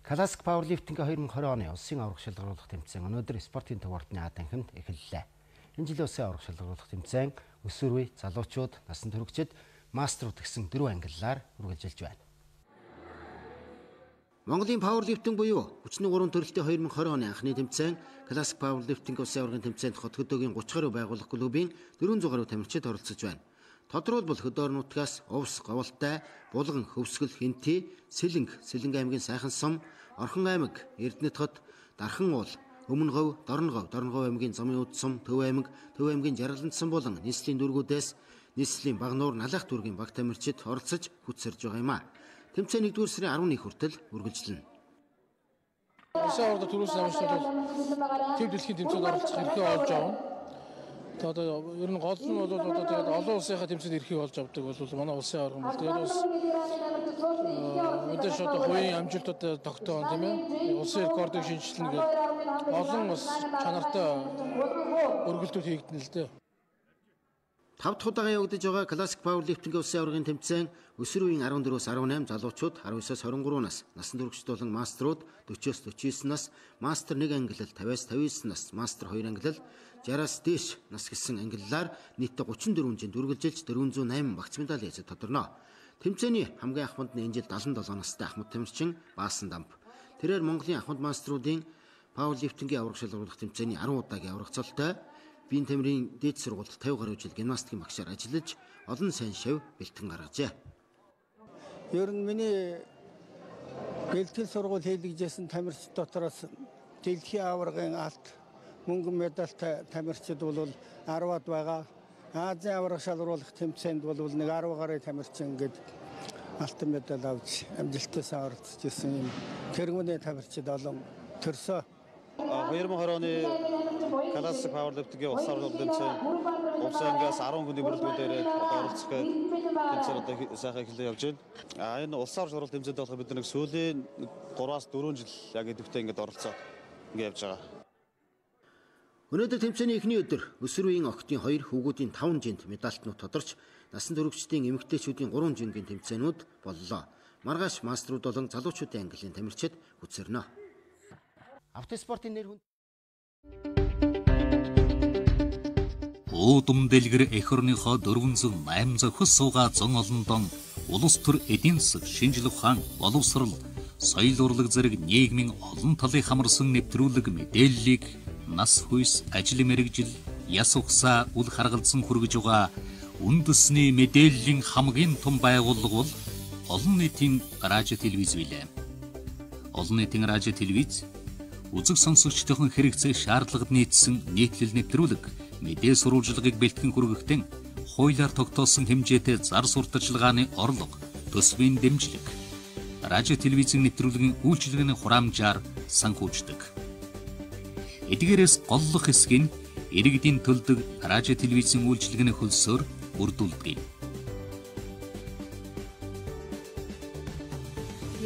Speaker 4: Classic Powerlifting-ийн 2020 оны улсын аварга шалгаруулах тэмцээн өнөөдөр спортын төв ордны А танхимд эхэллээ. Энэ жилийн улсын аварга шалгаруулах тэмцээн өсвөр үе, залуучууд, насан туршид, мастерууд гэсэн 4 ангиллаар үргэлжилж байна. Монголын Powerlifting буюу хүчний 3 төрөлтийн 2020 оны анхны тэмцээн Classic Powerlifting улсын аваргын тэмцээнд хот хөдөөгийн 30 гаруй байгууллага клубын 400 гаруй тамирчид оролцож байна. Тодорхойлбол хөдөөр нутгаас Увс, Говьалтай, Булган, Хөвсгөл, Хинти, Сэлэнг аймгийн Сайхан сум, Орхон аймаг, Эрдэнэт хот, Дархан уул, Өмнө говь, Дорногов аймгийн Замын үд сум, Төв аймгийн Жаргалант сум болон нийслэлийн дүүргүүдээс нийслэлийн Багнуур, Налах дүүргийн баг тамирчид оролцож хүчсэрж байгаа юм а. Тэмцээн 1-р сарын 11 хүртэл үргэлжилнэ.
Speaker 5: Улсын аварга төрөөс намжлал төв дэлхийн тэмцээнд оролцох эрхээ олж авна. Одоо ер нь гол нь бол одоо тэгээд олон улсынхаа тэмцээнд эрхийг олж авдаг бол манай улсын аварга бол тэгээд бас мэдээж одоо хувийн амжилтууд тогтоон тийм ээ. Улсын рекордыг шинжилнэ гэдэг олон бас чанартай өргөлтүүд хийгдэнэ л дээ.
Speaker 4: 5 дахь удаага явагдаж байгаа Classic Powerlifting улсын аваргын тэмцээн өсвөр үеийн 14-өөс 18, залуучууд 19-өөс 23 нас, насан туршид болон мастерууд 40-өөс 49 нас, мастер 1 ангиллал 50-аас 59 нас, мастер 2 ангиллал 60-аас дээш нас гэсэн ангиллаар нийтдээ 34 хүнжинд үргэлжилж 408 багц медаль эзэд тодорно. Тэмцээний хамгийн ахмад нь энэ жил 77 настай Ахмад тамирчин Баасан Дамб. Тэрээр Монголын ахмад мастеруудын Powerlifting-ийн аварга шалгаруулах тэмцээний 10 удаагийн аврагцалтай биеийн тамирын дээд сургуульд 50 гаруй жил гимнастикийн багшаар ажиллаж олон сайн шав бэлтгэн гаргажээ.
Speaker 6: Ер нь миний бэлтгэл сургууль хийлгэжсэн тамирчид дотроос дэлхийн аваргын алт мөнгөн медальтай тамирчид бол 10-аад байгаа. Азийн аварга шалгаруулах тэмцээнд бол нэг 10 гаруй тамирчин гээд алтан медаль авч амжилттай оролцож ирсэн юм. Тэргүүний тамирчид олон төрсөө.
Speaker 24: 2020 оны Classic Powerlifting-ийн улсын аварга тэмцээн улсын ангиас 10 хүний бүрэлдэхүүнээр оролцох тэмцээн одоо сайхан эхлэж явж байна. Энэ улсын аварга шалгаруулах тэмцээнд болох бид нэг сүүлийн 3-аас 4 жил яг идэвхтэй ингэж оролцоод ингэ явж байгаа.
Speaker 4: Өнөөдөр тэмцээний эхний өдөр өсвөр үеийн октын 2, хүүгүүдийн 5 жинт медальтнууд тодорч насан туршидтын эмэгтэйчүүдийн 3 жингийн тэмцээнүүд боллоо. Маргааш мастерууд болон залуучуудын ангиллын тамирчид хүчсэрнэ. Автоспортын нэр хүн
Speaker 1: Уудам дэлгэр эх орныхоо 408 зохис суугаа зон олондон улс төр эдийн засаг, шинжлэх ухаан, боловсрол, соёл урлаг зэрэг нийгмийн олон талын хамарсан нэвтрүүлэг мэдээллийг нас хүйс, ажил мэргэжил, яс ухсаа үл харгалзан хүргэж байгаа үндэсний мэдээллийн хамгийн том байгууллага бол олон нийтийн радио телевиз билээ. Олон нийтийн радио телевиз үзэг сонсогчдын хэрэгцээ шаардлагад нийцсэн нийтлэл нэвтрүүлэг, мэдээ сурвалжлагыг бэлтгэн хүргэхдээ хуулиар тогтоосон хэмжээтэй зар сурталчилгааны орлого, төсвийн дэмжлэг, радио телевизийн нэвтрүүлгийн үйлчилгээний хураамжаар санхүүждэг. Эдгээрээс голлох хэсэг нь иргэдийн төлдөг радио телевизийн үйлчилгээний хөлсөөр бүрдүүлдэг.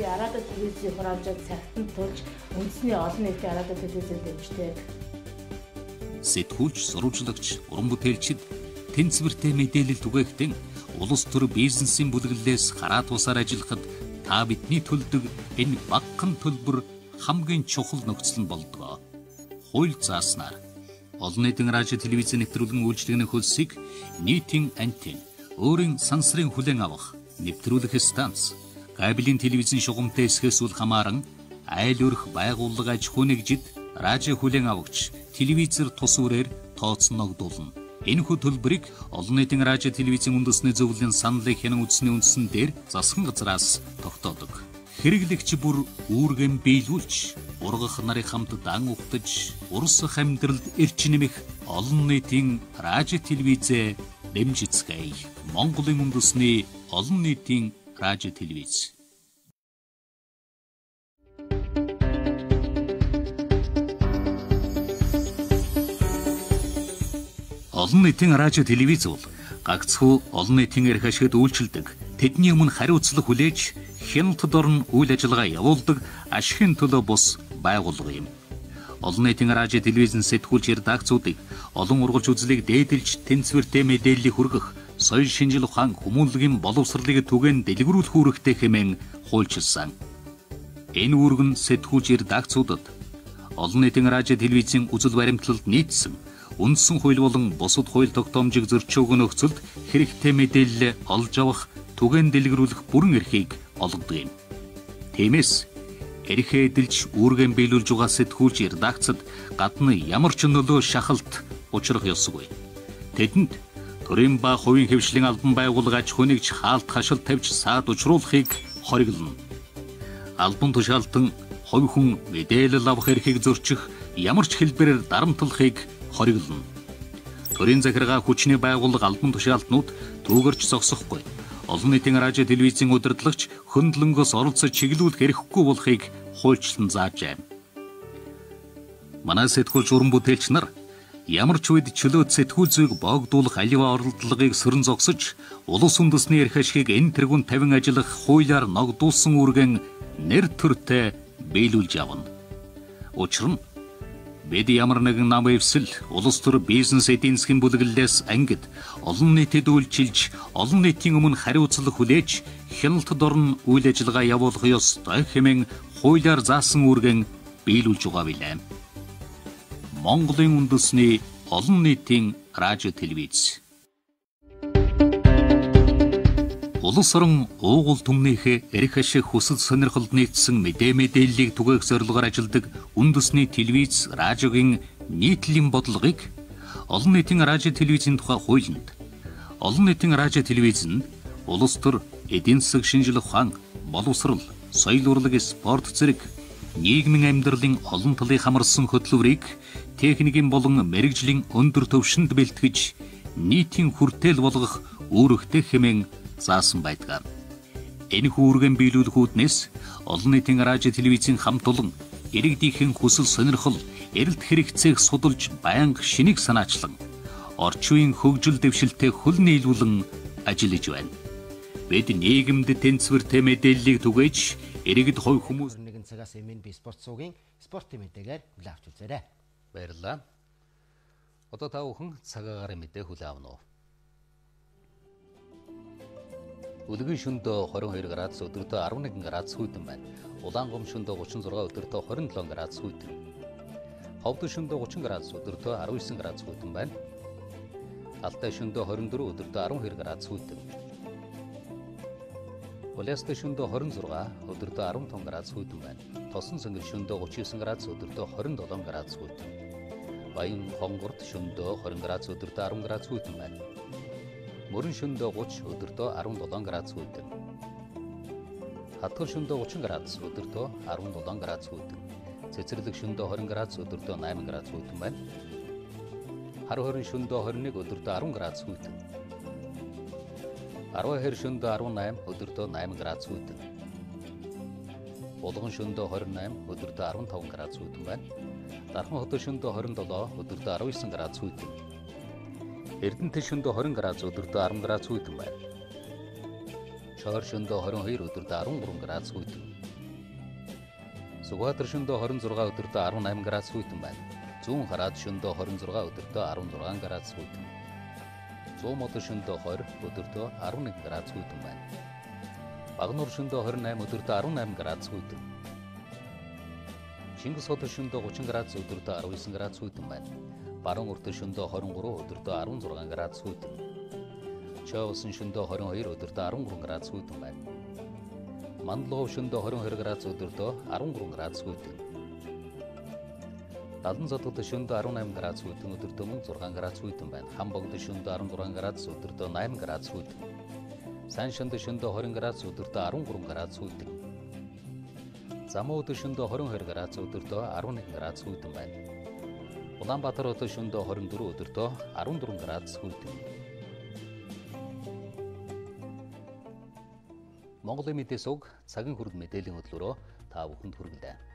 Speaker 25: Радио телевизийн хураамжаар цагтанд тулж үндэсний олон нийтийн радио телевизийн дэмждэг.
Speaker 1: Сэтгүүлч, сурвалжлагч, уран бүтээлчид тэнцвэртэй мэдээлэл түгээхдээ улс төр бизнесийн бүлэглэлээс хараа тусаар ажиллахад та бидний төлдөг энэ багахан төлбөр хамгийн чухал нөхцөл нь болдог. Хууль зааснаар олон нийтийн радио телевизийн нэвтрүүлгийн үйлчилгээний хөлсийг нийтийн антенн, өөрийн сансрын хүлээн авах, нэвтрүүлэх станц, кабелийн телевизийн шугамтай эсхээс үл хамааран айл өрх байгууллага аж ахуйн нэгжид радио хүлээн авагч телевизээр тус үрээр тооцногдуулна. Энэхүү төлбөрийг олон нийтийн радио телевизийн үндэсний зөвлөлийн саналыг хянан үзсний үндсэн дээр засгийн газраас тогтоодог. Хэрэглэгч бүр үүргэн биелүүлж, ургах нарыг хамт дан угтаж, урсах амьдралд эрч нэмэх олон нийтийн радио телевизээ дэмжицгээе. Монголын үндэсний олон нийтийн радио телевиз. Олон нийтийн радио телевиз бол гагцхүү олон нийтийн эрх ашигт үйлчилдэг. Тэдний өмнө хариуцлага хүлээж хяналтад орон үйл ажиллагаа явуулдаг ашигын төлөө бус байгууллага юм. Олон нийтийн радио телевизэн сэтгүүлч редакцуудыг олон ургалж үзлийг дээдэлж тэнцвэртэй мэдээллийг хүргэх, соёл шинжил ухаан хүмүүнлэгийн боловсролыг түгээн дэлгэрүүлэх үүрэгтэй хэмээн хуульчилсан. Энэ үүрэг нь сэтгүүлч редакцуудад олон нийтийн радио телевизийн үзэл баримтлалд нийцсэн үндсэн хууль болон бусад хууль тогтоомжийг зөрчиж өгөх нөхцөлд хэрэгтэй мэдээлэл олж авах, түгээн дэлгэрүүлэх бүрэн эрхийг олгодог юм. Тиймээс эрхээ эдэлж үүргэн биелүүлж байгаа сэтгүүлч редакцад гадна ямар ч нөлөө шахалт учрах ёсгүй. Тэдэнд төрийн ба хувийн хэвшлийн албан байгууллага аж ахуйн нэгж хаалт хашилт тавьж саад учруулахыг хориглоно. Албан тушаалтан хувь хүн мэдээлэл авах эрхийг зөрчих ямар ч хэлбэрээр дарамтлахыг хориглоно. Төрийн захиргаа хүчний байгууллага албан тушаалтнууд түүгэрч зогсохгүй. Олон нийтийн радио телевизийн удирдлагч хөндлөнгөөс оролцож чиглүүлэх эрхгүй болохыг хуульчлан заажээ. Манай сэтгүүлч уран бүтээлч нар ямар ч үед чөлөөт сэтгүүл зүйг боогдуулах аливаа оролдлогыг сөрөн зогсож, улс үндэсний эрх ашигыг энэ тэргүүнд тавин ажиллах хуулиар ногдуулсан үүргэн нэр төртэй биелүүлж явна. Учир нь бид ямар нэгэн нам эвсэл улс төр бизнес эдийн засгийн бүлэглэлээс ангид олон нийтэд үйлчилж, олон нийтийн өмнө хариуцлага хүлээж, хяналтад орон үйл ажиллагаа явуулах ёстой хэмээн хуулиар заасан үүргэн биелүүлж байгаа билээ. Монголын үндэсний олон нийтийн радио телевиз. Улс орон уугуул түмнийхээ эрх ашиг хүсэл сонирхолд нийцсэн мэдээллийг түгээх зорилгоор ажилладаг үндэсний телевиз, радиогийн нийтлэлийн бодлогыг олон нийтийн радио телевизийн тухай хуулинд олон нийтийн радио телевиз нь улс төр эдийн засаг шинжил ухаан, боловсрол, соёл урлаг, спорт зэрэг нийгмийн амьдралын олон талын хамарсан хөтөлбөрийг техникийн болон мэрэгжлийн өндөр түвшинд бэлтгэж нийтийн хүртээл болгох үүрэгтэй хэмээн заасан байдаг. Энэ үүргэн биелүүлэх үүднээс олон нийтийн радио телевизийн хамт олон иргэдийнхэн хүсэл сонирхол, эрэлт хэрэгцээг судалж байнга шинийг санаачлан орчин үеийн хөгжил дэвшилтэд хөл нийлүүлэн ажиллаж байна. Бид нийгэмд тэнцвэртэй мэдээллийг түгээж иргэд хувь хүмүүс
Speaker 4: нэгэн цагаас MNB спорт суугийн спортын мэдээгээр хүлээн авч үзээрэй.
Speaker 1: Баярлалаа. Одоо та бүхэн цагаагаар мэдээ хүлээн авна уу? Өдгөө шөндөө 22 градус, өдөртөө 11 градус хүйтэн байна. Улаангом шөндөө 36, өдөртөө 27 градус хүйтэн. Ховд шөндөө 30 градус, өдөртөө 19 градус хүйтэн байна. Алтай шөндөө 24, өдөртөө 12 градус хүйтэн. Улаастай шөндөө 26, өдөртөө 15 градус хүйтэн байна. Тосон сэнгэр шөндөө 39 градус, өдөртөө 27 градус хүйтэн. Баян хонгорт шөндөө 20 градус, өдөртөө 10 градус хүйтэн байна. Мөрөн шөндөө 30, өдөртөө 17 градус хүйтэн. Хатгал шөндөө 30 градус, өдөртөө 17 градус хүйтэн. Цэцэрлэг шөндөө 20 градус, өдөртөө 8 градус хүйтэн байна. Хар хорин шөндөө 21, өдөртөө 10 градус хүйтэн. Арваа хэр шөндөө 18, өдөртөө 8 градус хүйтэн. Булган шөндөө 28, өдөртөө 15 градус хүйтэн байна. Дархан хотод шөндөө 27, өдөртөө 19 градус хүйтэн. Эрдэнэт шөндөө 20 градус, өдөртөө 10 градус хүйтэн байна. Чоор шөндөө 22, өдөртөө 13 градус хүйтэн. Сүхбаатар шөндөө 26, өдөртөө 18 градус хүйтэн байна. Зүүн хараад шөндөө 26, өдөртөө 16 градус хүйтэн. Зүүн мод шөндөө 20, өдөртөө 11 градус хүйтэн байна. Багнуур шөндөө 28, өдөртөө 18 градус хүйтэн. Чингис хот шөндөө 30 градус, өдөртөө 19 градус хүйтэн байна. Баруун урт шөндөө 23, өдөртөө 16 градус хүйтэн. Чоусын шөндөө 22, өдөртөө 13 градус хүйтэн байна. Мандлогов шөндөө 22 градус, өдөртөө 13 градус хүйтэн. Далан задгад шөндөө 18 градус хүйтэн, өдөртөө 6 градус хүйтэн байна. Хамбогд шөндөө 16 градус, өдөртөө 8 градус хүйтэн. Сан шонд шөндөө 20 градус, өдөртөө 13 градус хүйтэн. Замууд шөндөө 22 градус, өдөртөө 11 градус хүйтэн байна. Улаанбаатар хотод шөндөө 24, өдөртөө 14 градус хүйтэн. Монголын мэдээс уг цагийн хүрд мэдээллийн хөтөлбөрөөр та бүхэнд хүргэлээ.